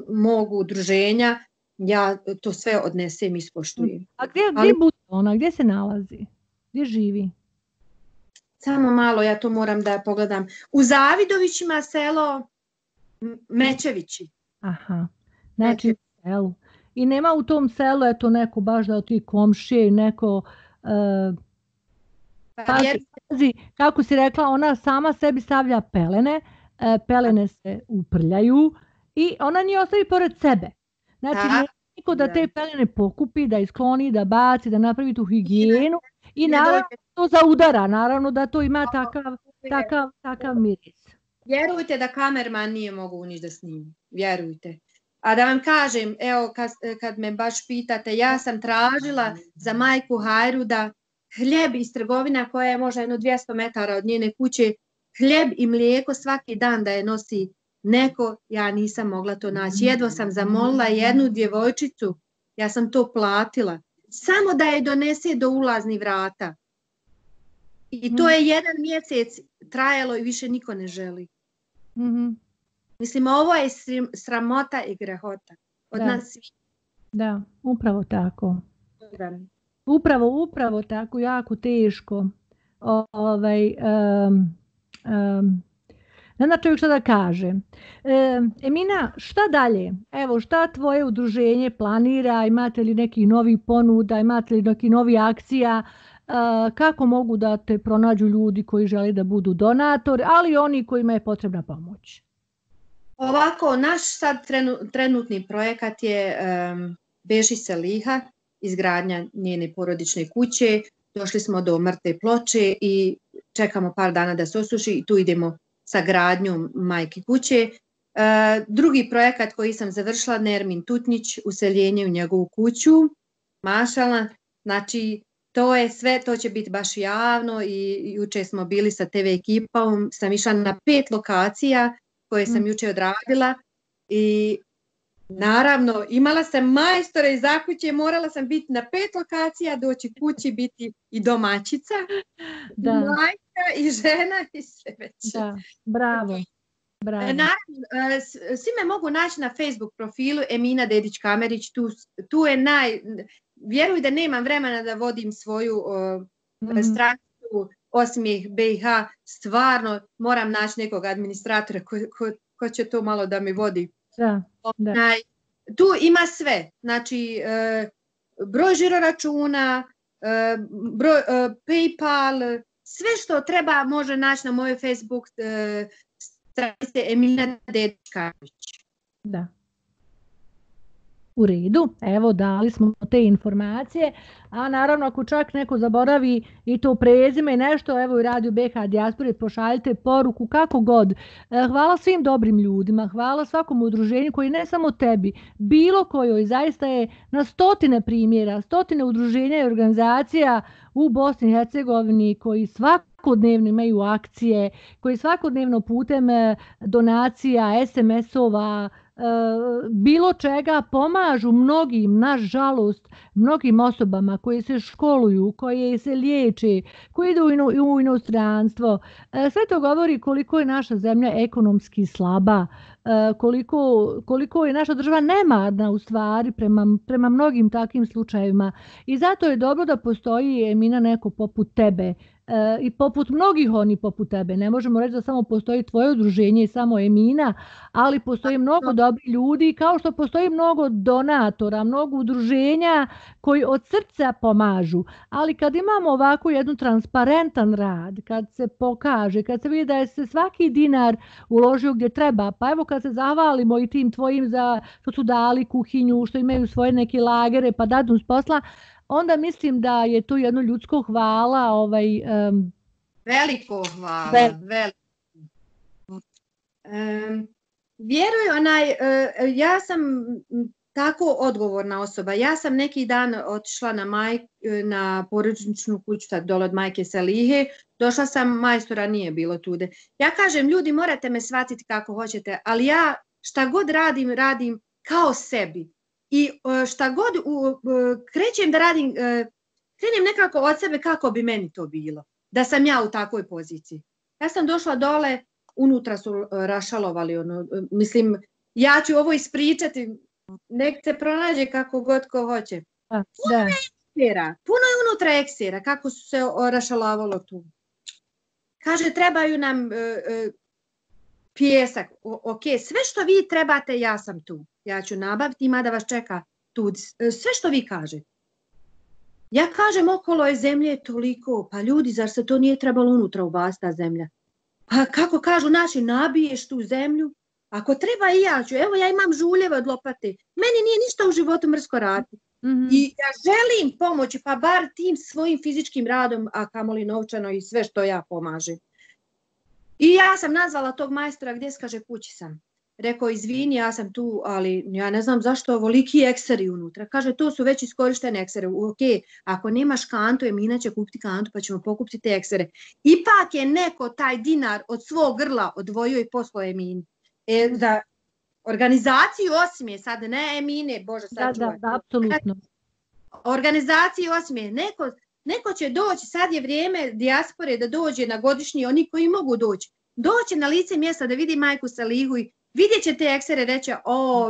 mog udruženja, ja to sve odnesem i ispoštujem. A gdje bude ona? Gdje se nalazi? Gdje živi? Samo malo, ja to moram da pogledam. U Zavidovićima selo Mečevići. Aha, znači u selu. I nema u tom selu, eto neko baš da ti komšije, neko... kako si rekla, ona sama sebi stavlja pelene, pelene se uprljaju i ona njih ostavi pored sebe. Znači, nema niko da te pelene pokupi, da iskloni, da baci, da napravi tu higijenu i naravno to zaudara, naravno da to ima takav miris. Vjerujte da kamerman nije mogu ništa da snimi, vjerujte. A da vam kažem, evo kad me baš pitate, ja sam tražila za majku Hajru da hljeb iz trgovina koja je možda 200 metara od njene kuće, hljeb i mlijeko svaki dan da je nosi neko, ja nisam mogla to naći. Jedva sam zamolila jednu djevojčicu, ja sam to platila, samo da je donese do ulaznih vrata. I to je 1 mjesec trajalo i više niko ne želi. Mislim, ovo je sramota i grehota od nas svih. Da, upravo tako. Upravo tako, jako teško. Ne zna čovjek šta da kaže. Emina, šta dalje? Evo, šta tvoje udruženje planira? Imate li neki novi ponuda? Imate li neki novi akcija? Kako mogu da te pronađu ljudi koji žele da budu donatori, ali i oni kojima je potrebna pomoć? Ovako, naš sad trenutni projekat je Beši Seliha, izgradnja njene porodične kuće. Došli smo do mrtve ploče i čekamo par dana da se osuši i tu idemo sa gradnjom majke kuće. Drugi projekat koji sam završila, Nermin Tutnić, useljenje u njegovu kuću. Mašala, znači to je sve, to će biti baš javno i juče smo bili sa TV ekipom, sam išla na 5 lokacija koje sam juče odradila i naravno imala sam majstora iz zakuće, morala sam biti na 5 lokacija, doći kući, biti i domaćica, majka i žena i sve već. Da, bravo. Naravno, svi me mogu naći na Facebook profilu Emina Dedić-Kamerić, tu je vjeruj da nemam vremena da vodim svoju stranicu Osmijeh BiH, stvarno moram naći nekog administratora ko će to malo da mi vodi. Tu ima sve, znači broj žiroračuna, broj PayPal, sve što treba može naći na mojoj Facebook stranici Emina Dedić-Kamerić. Da. U redu, evo dali smo te informacije, a naravno ako čak neko zaboravi i to prezime i nešto, evo i Radio BiH Dijaspore, pošaljite poruku kako god. Hvala svim dobrim ljudima, hvala svakom udruženju koji ne samo tebi, bilo kojoj, zaista je na stotine primjera, stotine udruženja i organizacija u Bosni i Hercegovini koji svakodnevno imaju akcije, koji svakodnevno putem donacija, SMS-ova, bilo čega pomažu mnogim, nažalost, mnogim osobama koje se školuju, koje se liječe, koje idu u inostranstvo. Sve to govori koliko je naša zemlja ekonomski slaba, koliko je naša država nemarna u stvari prema mnogim takvim slučajevima. I zato je dobro da postoji, Emina, neko poput tebe i poput mnogih oni poput tebe. Ne možemo reći da samo postoji tvoje udruženje i samo Emina, ali postoji mnogo dobrih ljudi, kao što postoji mnogo donatora, mnogo udruženja koji od srca pomažu. Ali kad imamo ovako jednu transparentan rad, kad se pokaže, kad se vidi da je se svaki dinar uložio gdje treba, pa evo kad se zahvalimo i tim tvojim što su dali kuhinju, što imaju svoje neke lagere pa dadnu s posla, onda mislim da je to jedno ljudsko hvala. Veliko hvala. Vjeruj, ja sam tako odgovorna osoba. Ja sam neki dan otišla na porodičnu kuću dole od majke Salihe. Došla sam, majstora nije bilo tude. Ja kažem, ljudi, morate me shvatiti kako hoćete, ali ja šta god radim kao sebi. I šta god krećem da radim, krenem nekako od sebe kako bi meni to bilo. Da sam ja u takvoj poziciji. Ja sam došla dole, unutra su rašalovali. Mislim, ja ću ovo ispričati, nek se pronađe kako god ko hoće. Puno je unutra eksera, kako su se rašalovalo tu. Kaže, trebaju nam pijesak. Ok, sve što vi trebate, ja sam tu. Ja ću nabaviti, ima da vas čeka tu. Sve što vi kažete. Ja kažem, okolo je zemlje toliko, pa ljudi, zar se to nije trebalo unutra ubaciti ta zemlja? Pa kako kažu naši, nabiješ tu zemlju, ako treba i ja ću. Evo, ja imam žuljeve od lopate. Meni nije ništa u životu mrsko raditi. I ja želim pomoći, pa bar tim svojim fizičkim radom, a kamoli novčano i sve što ja pomažem. I ja sam nazvala tog majstora, gdje se kaže, kući sam. Rekao, izvini, ja sam tu, ali ja ne znam zašto ovoliki ekseri unutra. Kaže, to su već iskorištene eksere. Ok, ako nemaš kantu, Emina će kupiti kantu, pa ćemo pokupiti te eksere. Ipak je neko taj dinar od svog grla odvojio i poslao Emini. Za organizaciju Osmije, sad ne Emine, Bože, sad čuvaj. Da, apsolutno. Organizaciju Osmije, neko će doći, sad je vrijeme dijaspore da dođe na godišnji, oni koji mogu doći. Doći na lice mjesta da vidi majku Salihu i vidjet će te eksere reći,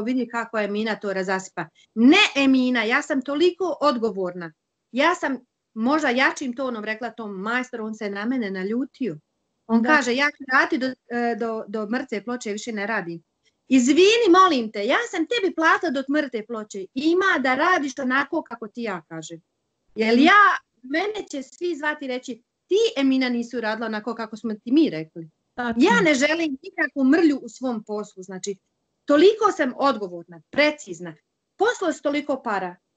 vidi kako Emina to razasipa. Ne Emina, ja sam toliko odgovorna. Ja sam možda jačim tonom rekla tom majstoru, on se na mene naljutio. On kaže, ja ću raditi do mrtve ploče, više ne radim. Izvini, molim te, ja sam tebi platila do mrtve ploče. Ima da radiš onako kako ti ja kažem. Jer mene će svi zvati reći, ti Emina nisu radila onako kako smo ti mi rekli. Ja ne želim nikakvu mrlju u svom poslu. Znači, toliko sam odgovorna, precizna. Poslo s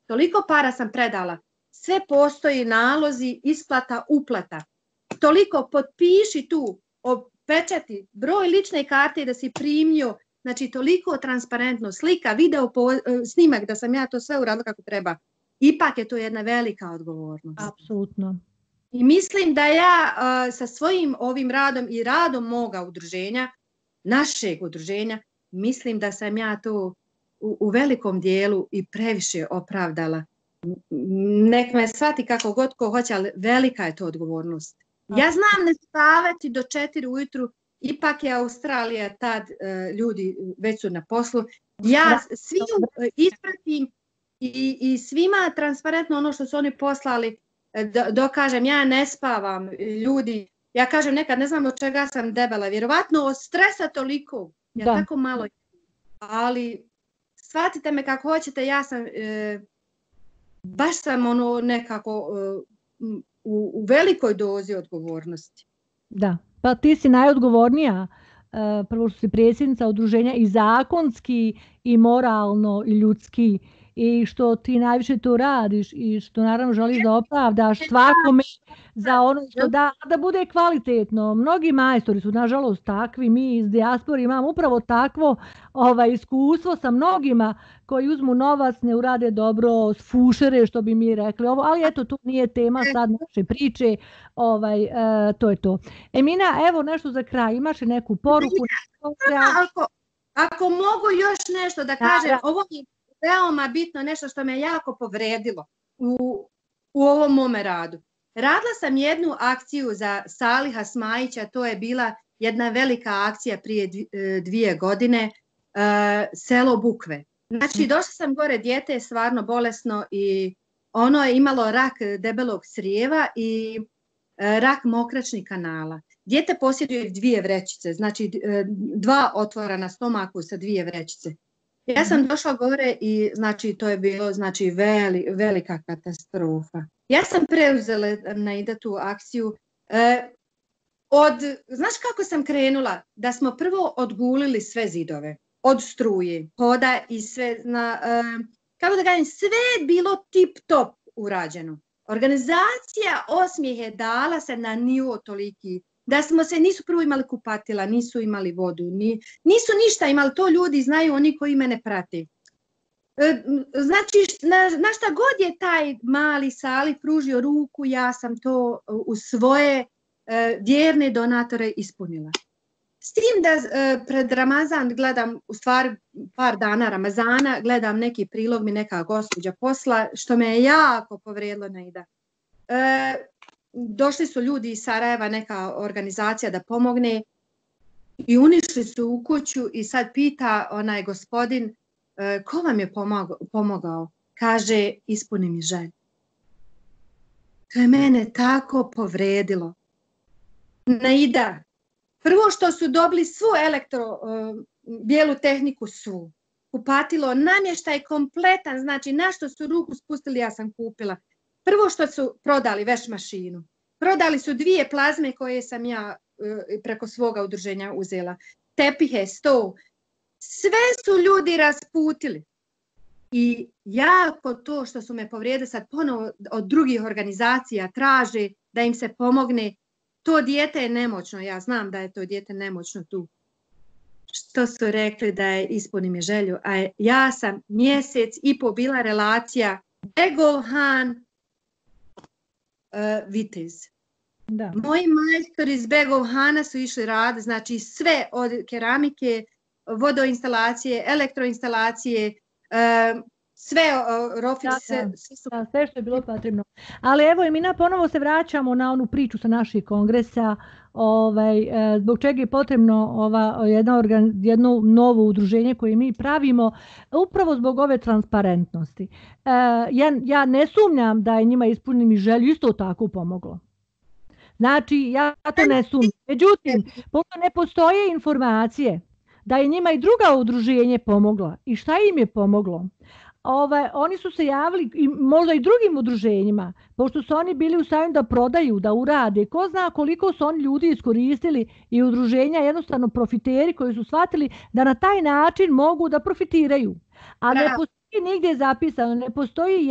toliko para sam predala. Sve postoji, nalozi, isplata, uplata. Toliko potpiši tu, pečati, broj lične karte da si primio. Znači, toliko transparentno, slika, video, snimak da sam ja to sve uradila kako treba. Ipak je to jedna velika odgovornost. Apsolutno. I mislim da ja sa svojim ovim radom i radom moga udruženja, našeg udruženja, mislim da sam ja to u velikom dijelu i previše opravdala. Nek me shvati kako god ko hoće, ali velika je to odgovornost. Ja znam ne spavati do 4 ujutru, ipak je Australija tad, ljudi već su na poslu. Ja svim ispratim i svima transparentno ono što su oni poslali, dokažem, ja ne spavam, ljudi, ja kažem nekad ne znam od čega sam debela, vjerovatno od stresa toliko, ja tako malo, ali shvatite me kako hoćete, ja sam, baš sam ono nekako u velikoj dozi odgovornosti. Da, pa ti si najodgovornija, prvo što si predsjednica udruženja i zakonski i moralno i ljudski, i što ti najviše to radiš i što naravno želiš da opravdaš svakome za ono što da bude kvalitetno. Mnogi majstori su nažalost takvi, mi iz dijaspore imamo upravo takvo iskustvo sa mnogima koji uzmu novac, ne urade dobro, sfušere što bi mi rekli, ali eto to nije tema sad naše priče, to je to. Emina, evo nešto za kraj, imaš li neku poruku? Ako mogu još nešto da kažem, ovo mi veoma bitno, nešto što me jako povredilo u ovom mome radu. Radila sam jednu akciju za Saliha Smajića, to je bila jedna velika akcija prije 2 godine, selo Bukve. Znači, došla sam gore, dijete je stvarno bolesno i ono je imalo rak debelog crijeva i rak mokraćnih kanala. Dijete posjeduje 2 vrećice, znači 2 otvora na stomaku sa 2 vrećice. Ja sam došla gore i znači to je bilo znači velika katastrofa. Ja sam preuzela na tu akciju. Znaš kako sam krenula? Da smo prvo odgulili sve zidove. Od struje, hoda i sve, kako da kažem, sve je bilo tip top urađeno. Organizacija Osmijehe dala se na nivo toliki, da nisu prvo imali kupatila, nisu imali vodu, nisu ništa imali, to ljudi znaju, oni koji mene prati. Znači, na šta god je taj mali Salih pružio ruku, ja sam to u svoje vjerne donatore ispunila. S tim da pred Ramazan gledam, u stvari par dana Ramazana, gledam neki prilog mi neka gospođa posla, što me je jako povrijedilo Naida. Došli su ljudi iz Sarajeva, neka organizacija da pomogne i unišli su u kuću i sad pita onaj gospodin ko vam je pomogao? Kaže, ispuni mi želju. To je mene tako povrijedilo. Naida, prvo što su dobili svu bijelu tehniku svu. Kupatilo, namještaj kompletan, znači na što su ruku spustili ja sam kupila. Prvo što su prodali veš mašinu. Prodali su 2 plazme koje sam ja preko svoga udruženja uzela. Tepihe, sto. Sve su ljudi rasputili. I jako to što su me povrijedili sad ponovo od drugih organizacija traže da im se pomogne. To dijete je nemoćno, ja znam da je to dijete nemoćno tu. Što su rekli da je ispuni mi želju, a ja sam mjesec i po bila relacija Begovhan Vitez. Da. Moji majstori iz Begovhana su išli rad, znači sve od keramike, vodoinstalacije, elektroinstalacije, sve rofise, sve što je bilo potrebno. Ali evo, Emina, ponovo se vraćamo na onu priču sa naših kongresa, zbog čega je potrebno jedno novo udruženje koje mi pravimo, upravo zbog ove transparentnosti. Ja ne sumnjam da je njima ispunim i želju isto tako pomoglo. Znači, ja to ne sumnjam. Međutim, pošto ne postoje informacije da je njima i druga udruženje pomogla i šta im je pomoglo, oni su se javili i možda i drugim udruženjima, pošto su oni bili u stanju da prodaju, da urade. Ko zna koliko su oni ljudi iskoristili i udruženja, jednostavno profiteri koji su shvatili da na taj način mogu da profitiraju. A ne postoji nigdje zapisano, ne postoji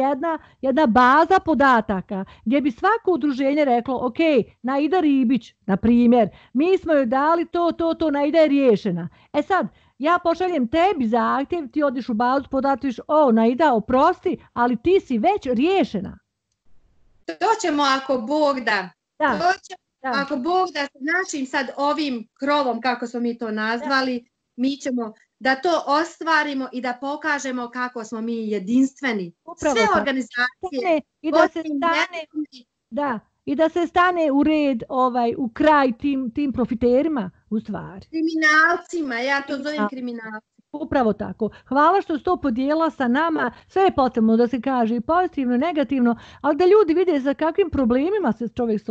jedna baza podataka gdje bi svako udruženje reklo, ok, Naida Ribić, na primjer, mi smo joj dali to, Naida je riješena. E sad, ja pošaljem tebi zahtjev, ti odiš u bazu, podatiš, Naida, oprosti, ali ti si već riješena. To ćemo ako Bog da. Ako Bog da s našim sad ovim krovom, kako smo mi to nazvali, mi ćemo da to ostvarimo i da pokažemo kako smo mi jedinstveni. Upravo sve organizacije. I da se stane u red, u kraj tim profiterima, u stvari. Kriminalcima, ja to zovem kriminalci. Upravo tako. Hvala što si to podijela sa nama. Sve je potrebno da se kaže i pozitivno i negativno, ali da ljudi vide sa kakvim problemima se čovjek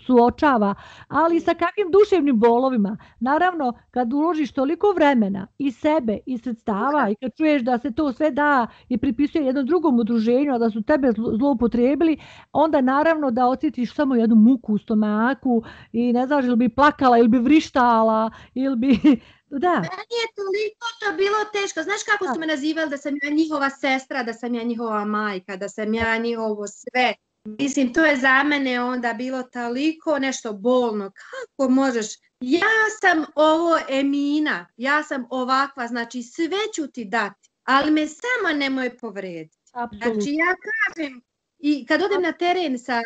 suočava, ali i sa kakvim duševnim bolovima. Naravno, kad uložiš toliko vremena i sebe i sredstava i kad čuješ da se to sve da i pripisuje jednom drugom udruženju, a da su tebe zloupotrijebili, onda naravno da osjetiš samo jednu muku u stomaku i ne znaš ili bi plakala ili bi vrištala ili bi... Da. Meni je toliko to bilo teško. Znaš kako su me nazivali da sam ja njihova sestra, da sam ja njihova majka, da sam ja njihovo sve. Mislim, to je za mene onda bilo toliko nešto bolno. Kako možeš? Ja sam ovo Emina, ja sam ovakva, znači sve ću ti dati, ali me samo nemoj povrediti. Znači ja kažem, i kad odem na teren sa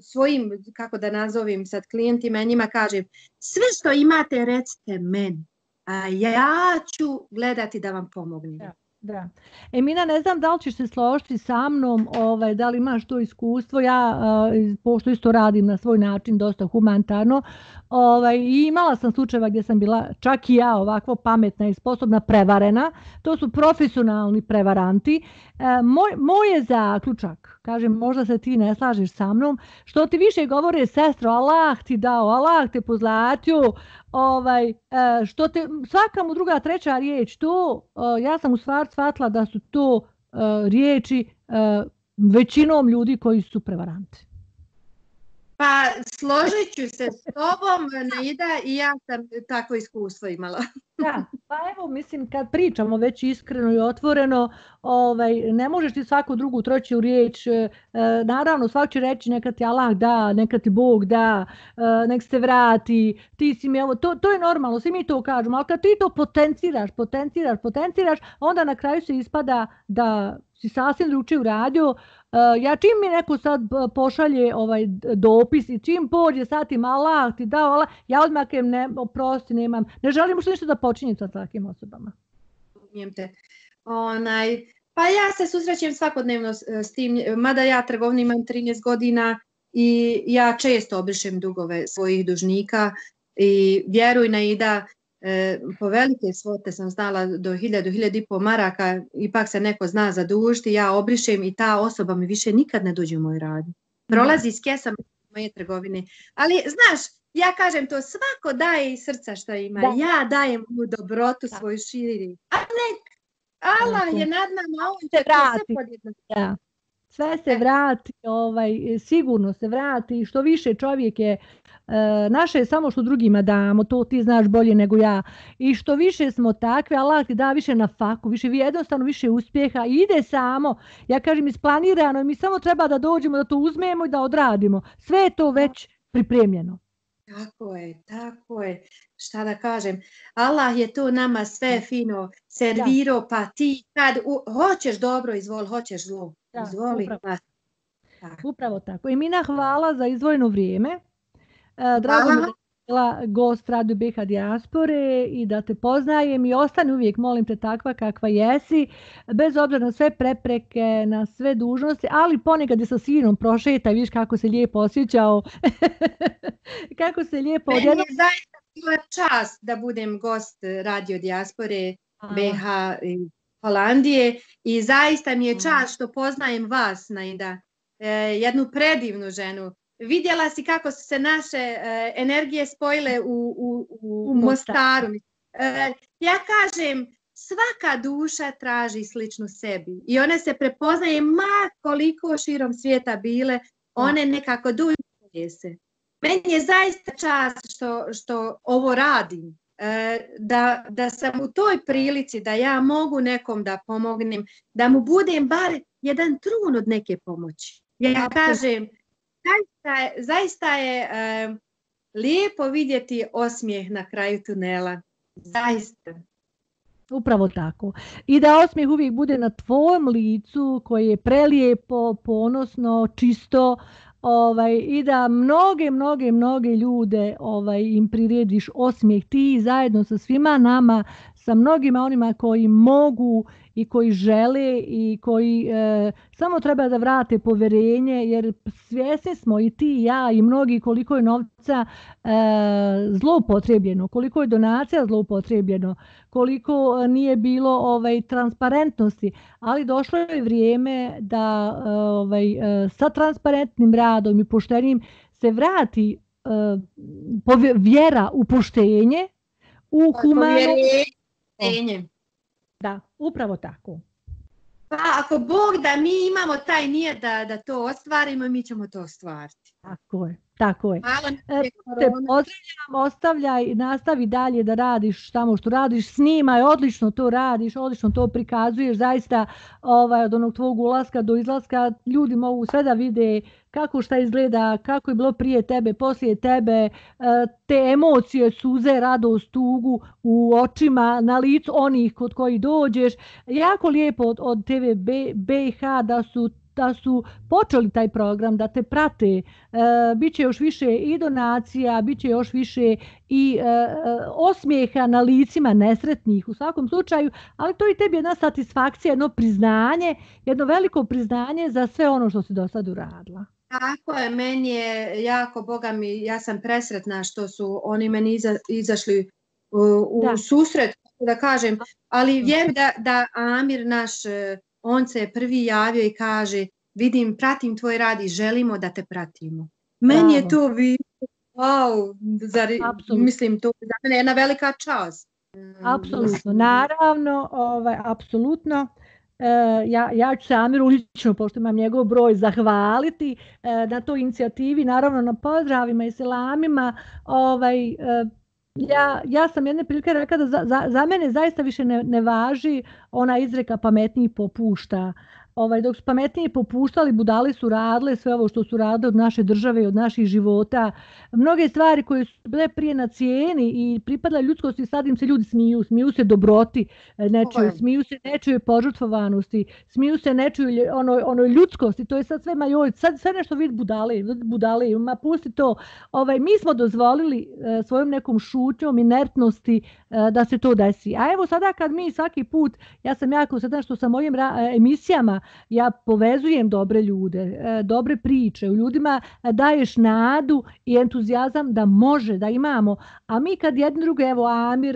svojim, kako da nazovem sad klijentima, njima kažem, sve što imate recite meni, a ja ću gledati da vam pomognem. Da. Emina, ne znam da li ćeš se složiti sa mnom, da li imaš to iskustvo, ja pošto isto radim na svoj način dosta humanitarno, i imala sam slučajeva gdje sam bila čak i ja ovako pametna i sposobna prevarena, to su profesionalni prevaranti. Moj je zaključak, kažem, možda se ti ne slažeš sa mnom, što ti više govore sestro, Allah ti dao, Allah te pozlatio, što te svaka mu druga treća riječ to ja sam u stvari shvatila da su to riječi većinom ljudi koji su prevaranti. Pa složit ću se s tobom, Naida, i ja sam takvo iskustvo imala. Da, pa evo, mislim, kad pričamo već iskreno i otvoreno, ne možeš ti svaku drugu treću riječ, naravno svak će reći neka ti Allah da, neka ti Bog da, nek se vrati, ti si mi, evo, to je normalno, svi mi to kažemo, ali kad ti to potenciraš, onda na kraju se ispada da si sasvim drugačije uradio. Ja čim mi neko sad pošalje dopis i čim pođe sad im Allah ti dao, Allah, ja odmah kem oprosti, ne želim ušte ništa da počinjem sa takvim osobama. Pa ja se susrećem svakodnevno s tim, mada ja trgovinu imam 13 godina i ja često obrišem dugove svojih dužnika i vjeruj Naida, po velike svote sam znala do 1000-1500 maraka, ipak se neko zna zadužiti, ja obrišem i ta osoba mi više nikad ne dođe u moj radnju. Prolazi s kesama moje trgovine. Ali znaš, ja kažem to, svako daje iz srca što ima. Da. Ja dajem mu dobrotu svoju širi. A nek, Allah je nad nama, on će to sve podjedno. Da. Sve se vrati, sigurno se vrati, što više čovjek je, naše je samo što drugima damo, to ti znaš bolje nego ja, i što više smo takve, Allah ti da više na faku, jednostavno više uspjeha, ide samo, ja kažem isplanirano, mi samo treba da dođemo, da to uzmemo i da odradimo, sve je to već pripremljeno. Tako je, šta da kažem, Allah je to nama sve fino servirao, pa ti kad hoćeš dobro, izvoli, hoćeš zlo. Izvoli. Upravo tako. Emina, hvala za izdvojeno vrijeme. Drago mi da si bila gost Radio BiH Dijaspore i da te poznajem i ostani uvijek, molim te, takva kakva jesi, bez obzira na sve prepreke, na sve dužnosti, ali ponekad je sa sinom prošetaj, vidiš kako se lijepo osjećao. Kako se lijepo odjedno. Meni je zaista bila čast da budem gost Radio Dijaspore BiH i Holandije i zaista mi je čast što poznajem vas, Naida, jednu predivnu ženu. Vidjela si kako su se naše energije spojile u Mostaru. Ja kažem, svaka duša traži sličnu sebi i one se prepoznaje ma koliko širom svijeta bile, one nekako duju se. Meni je zaista čast što ovo radim. Da sam u toj prilici da ja mogu nekom da pomognem, da mu budem bar jedan trun od neke pomoći. Ja kažem, zaista je lijepo vidjeti osmijeh na kraju tunela. Zaista. Upravo tako. I da osmijeh uvijek bude na tvojem licu koje je prelijepo, ponosno, čisto, i da mnoge ljude im prirediš osmijeh ti zajedno sa svima nama, sa mnogima onima koji mogu i koji žele i koji samo treba da vrate povjerenje, jer svjesni smo i ti i ja i mnogi koliko je novca zloupotrebljeno, koliko je donacija zloupotrebljeno, koliko nije bilo transparentnosti, ali došlo je vrijeme da sa transparentnim radom i poštenim se vrati vjera u poštenje, u humano. Da, upravo tako. Pa ako Bog da mi imamo taj nijet da to ostvarimo, mi ćemo to ostvariti. Tako je. Te pozdravljam, nastavi dalje da radiš tamo što radiš, snimaj, odlično to radiš, odlično to prikazuješ, zaista od onog tvog ulaska do izlaska ljudi mogu sve da vide kako šta izgleda, kako je bilo prije tebe, poslije tebe, te emocije, suze, radost, tugu u očima, na licu onih kod kojih dođeš. Jako lijepo od TV BiH da su da su počeli taj program, da te prate, bit će još više i donacija, bit će još više i osmijeha na licima nesretnih u svakom slučaju, ali to i tebi jedna satisfakcija, jedno priznanje, jedno veliko priznanje za sve ono što si do sad uradila. Tako je, meni je jako, Boga mi, ja sam presretna što su oni meni izašli u susret, da kažem, ali vjerujem da Amir naš, on se prvi javio i kaže, vidim, pratim tvoj rad i želimo da te pratimo. Meni je to wow, mislim, to za mene je jedna velika čast. Apsolutno, naravno, apsolutno. Ja ću se Amiru lično, pošto imam njegov broj, zahvaliti na toj inicijativi, naravno na pozdravima i selamima. Ja sam jedne prilike rekla da za mene zaista više ne važi ona izreka pametniji popušta. Dok su pametniji popuštali, budali su radile sve ovo što su radile od naše države i od naših života. Mnoge stvari koje su bile prije na cijeni i pripadale ljudskosti, sad im se ljudi smiju se dobroti nečuje, smiju se nečuje požrtvovanosti, smiju se nečuje onoj ljudskosti, to je sad sve majoj, sad sve nešto vid budale, ma pusti to. Mi smo dozvolili svojom nekom šutnjom, inertnosti da se to desi. A evo sada kad mi svaki put, ja sam jako sretna što sa mojim emisijama ja povezujem dobre ljude, dobre priče, u ljudima daješ nadu i entuzijazam da može, da imamo. A mi kad jedni druge, evo Amir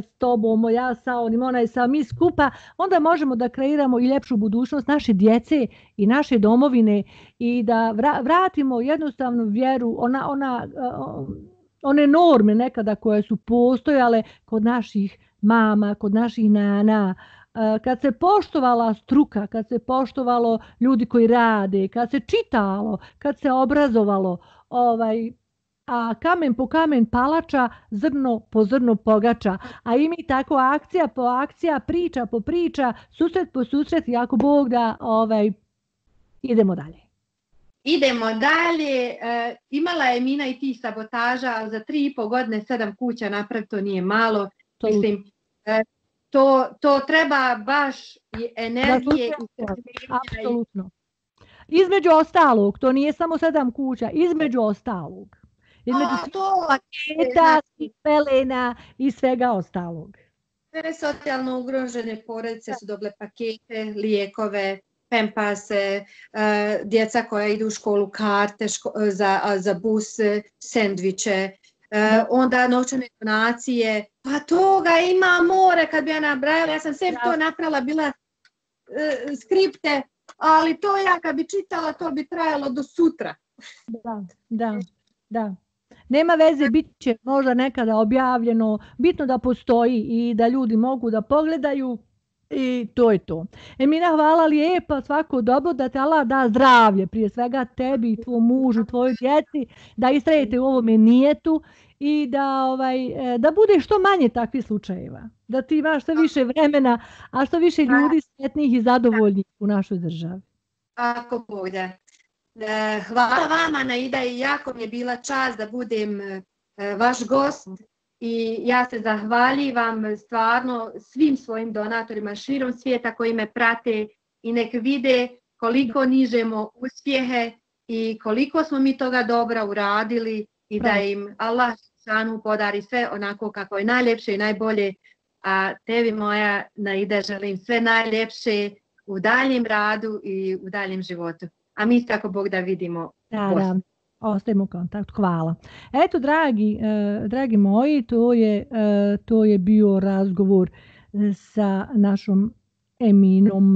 s tobom, ja sa onim, onaj sa mi skupa, onda možemo da kreiramo i ljepšu budućnost naše djece i naše domovine i da vratimo jednostavnu vjeru, one norme nekada koje su postojale kod naših mama, kod naših nana, kad se poštovala struka, kad se poštovalo ljudi koji rade, kad se čitalo, kad se obrazovalo, a kamen po kamen palača, zrno po zrno pogača. A i mi tako akcija po akcija, priča po priča, susret po susret, i ako Bog da, idemo dalje. Idemo dalje. Imala je Mina i ti sabotaža, ali za 3,5 godine 7 kuća napraviti, to nije malo. Mislim, to treba baš i energije. Apsolutno. Između ostalog, to nije samo 7 kuća, između ostalog. Između paketa, pelena i svega ostalog. Sve socijalno ugrožene porodice su dobile pakete, lijekove, pempase, djeca koja idu u školu, karte za bus, sendviče, onda novčane donacije. Pa toga ima more, kad bi ja nabrajala, ja sam sve to napravila, bila skripte, ali to ja kad bi čitala, to bi trajalo do sutra. Da. Nema veze, bit će možda nekada objavljeno, bitno da postoji i da ljudi mogu da pogledaju i to je to. Emina, hvala lijepa, svako dobro, da te Allah da zdravlje, prije svega tebi, tvom mužu, tvojoj djeci, da istrajete u ovome nijetu i da bude što manje takvih slučajeva, da ti imaš što više vremena, a što više ljudi sretnih i zadovoljnih u našoj državi. Ako Bog da. Hvala vama, Naida, i jako mi je bila čast da budem vaš gost i ja se zahvaljivam stvarno svim svojim donatorima širom svijeta koji me prate i nek vide koliko nižemo uspjehe i koliko smo mi toga dobra uradili i da im Allah šanu podari sve onako kako je najljepše i najbolje, a tebi moja Naida želim sve najljepše u daljem radu i u daljem životu. A mi se ako Bog da vidimo. Da, ostajemo u kontaktu. Hvala. Eto, dragi moji, to je bio razgovor sa našom Eminom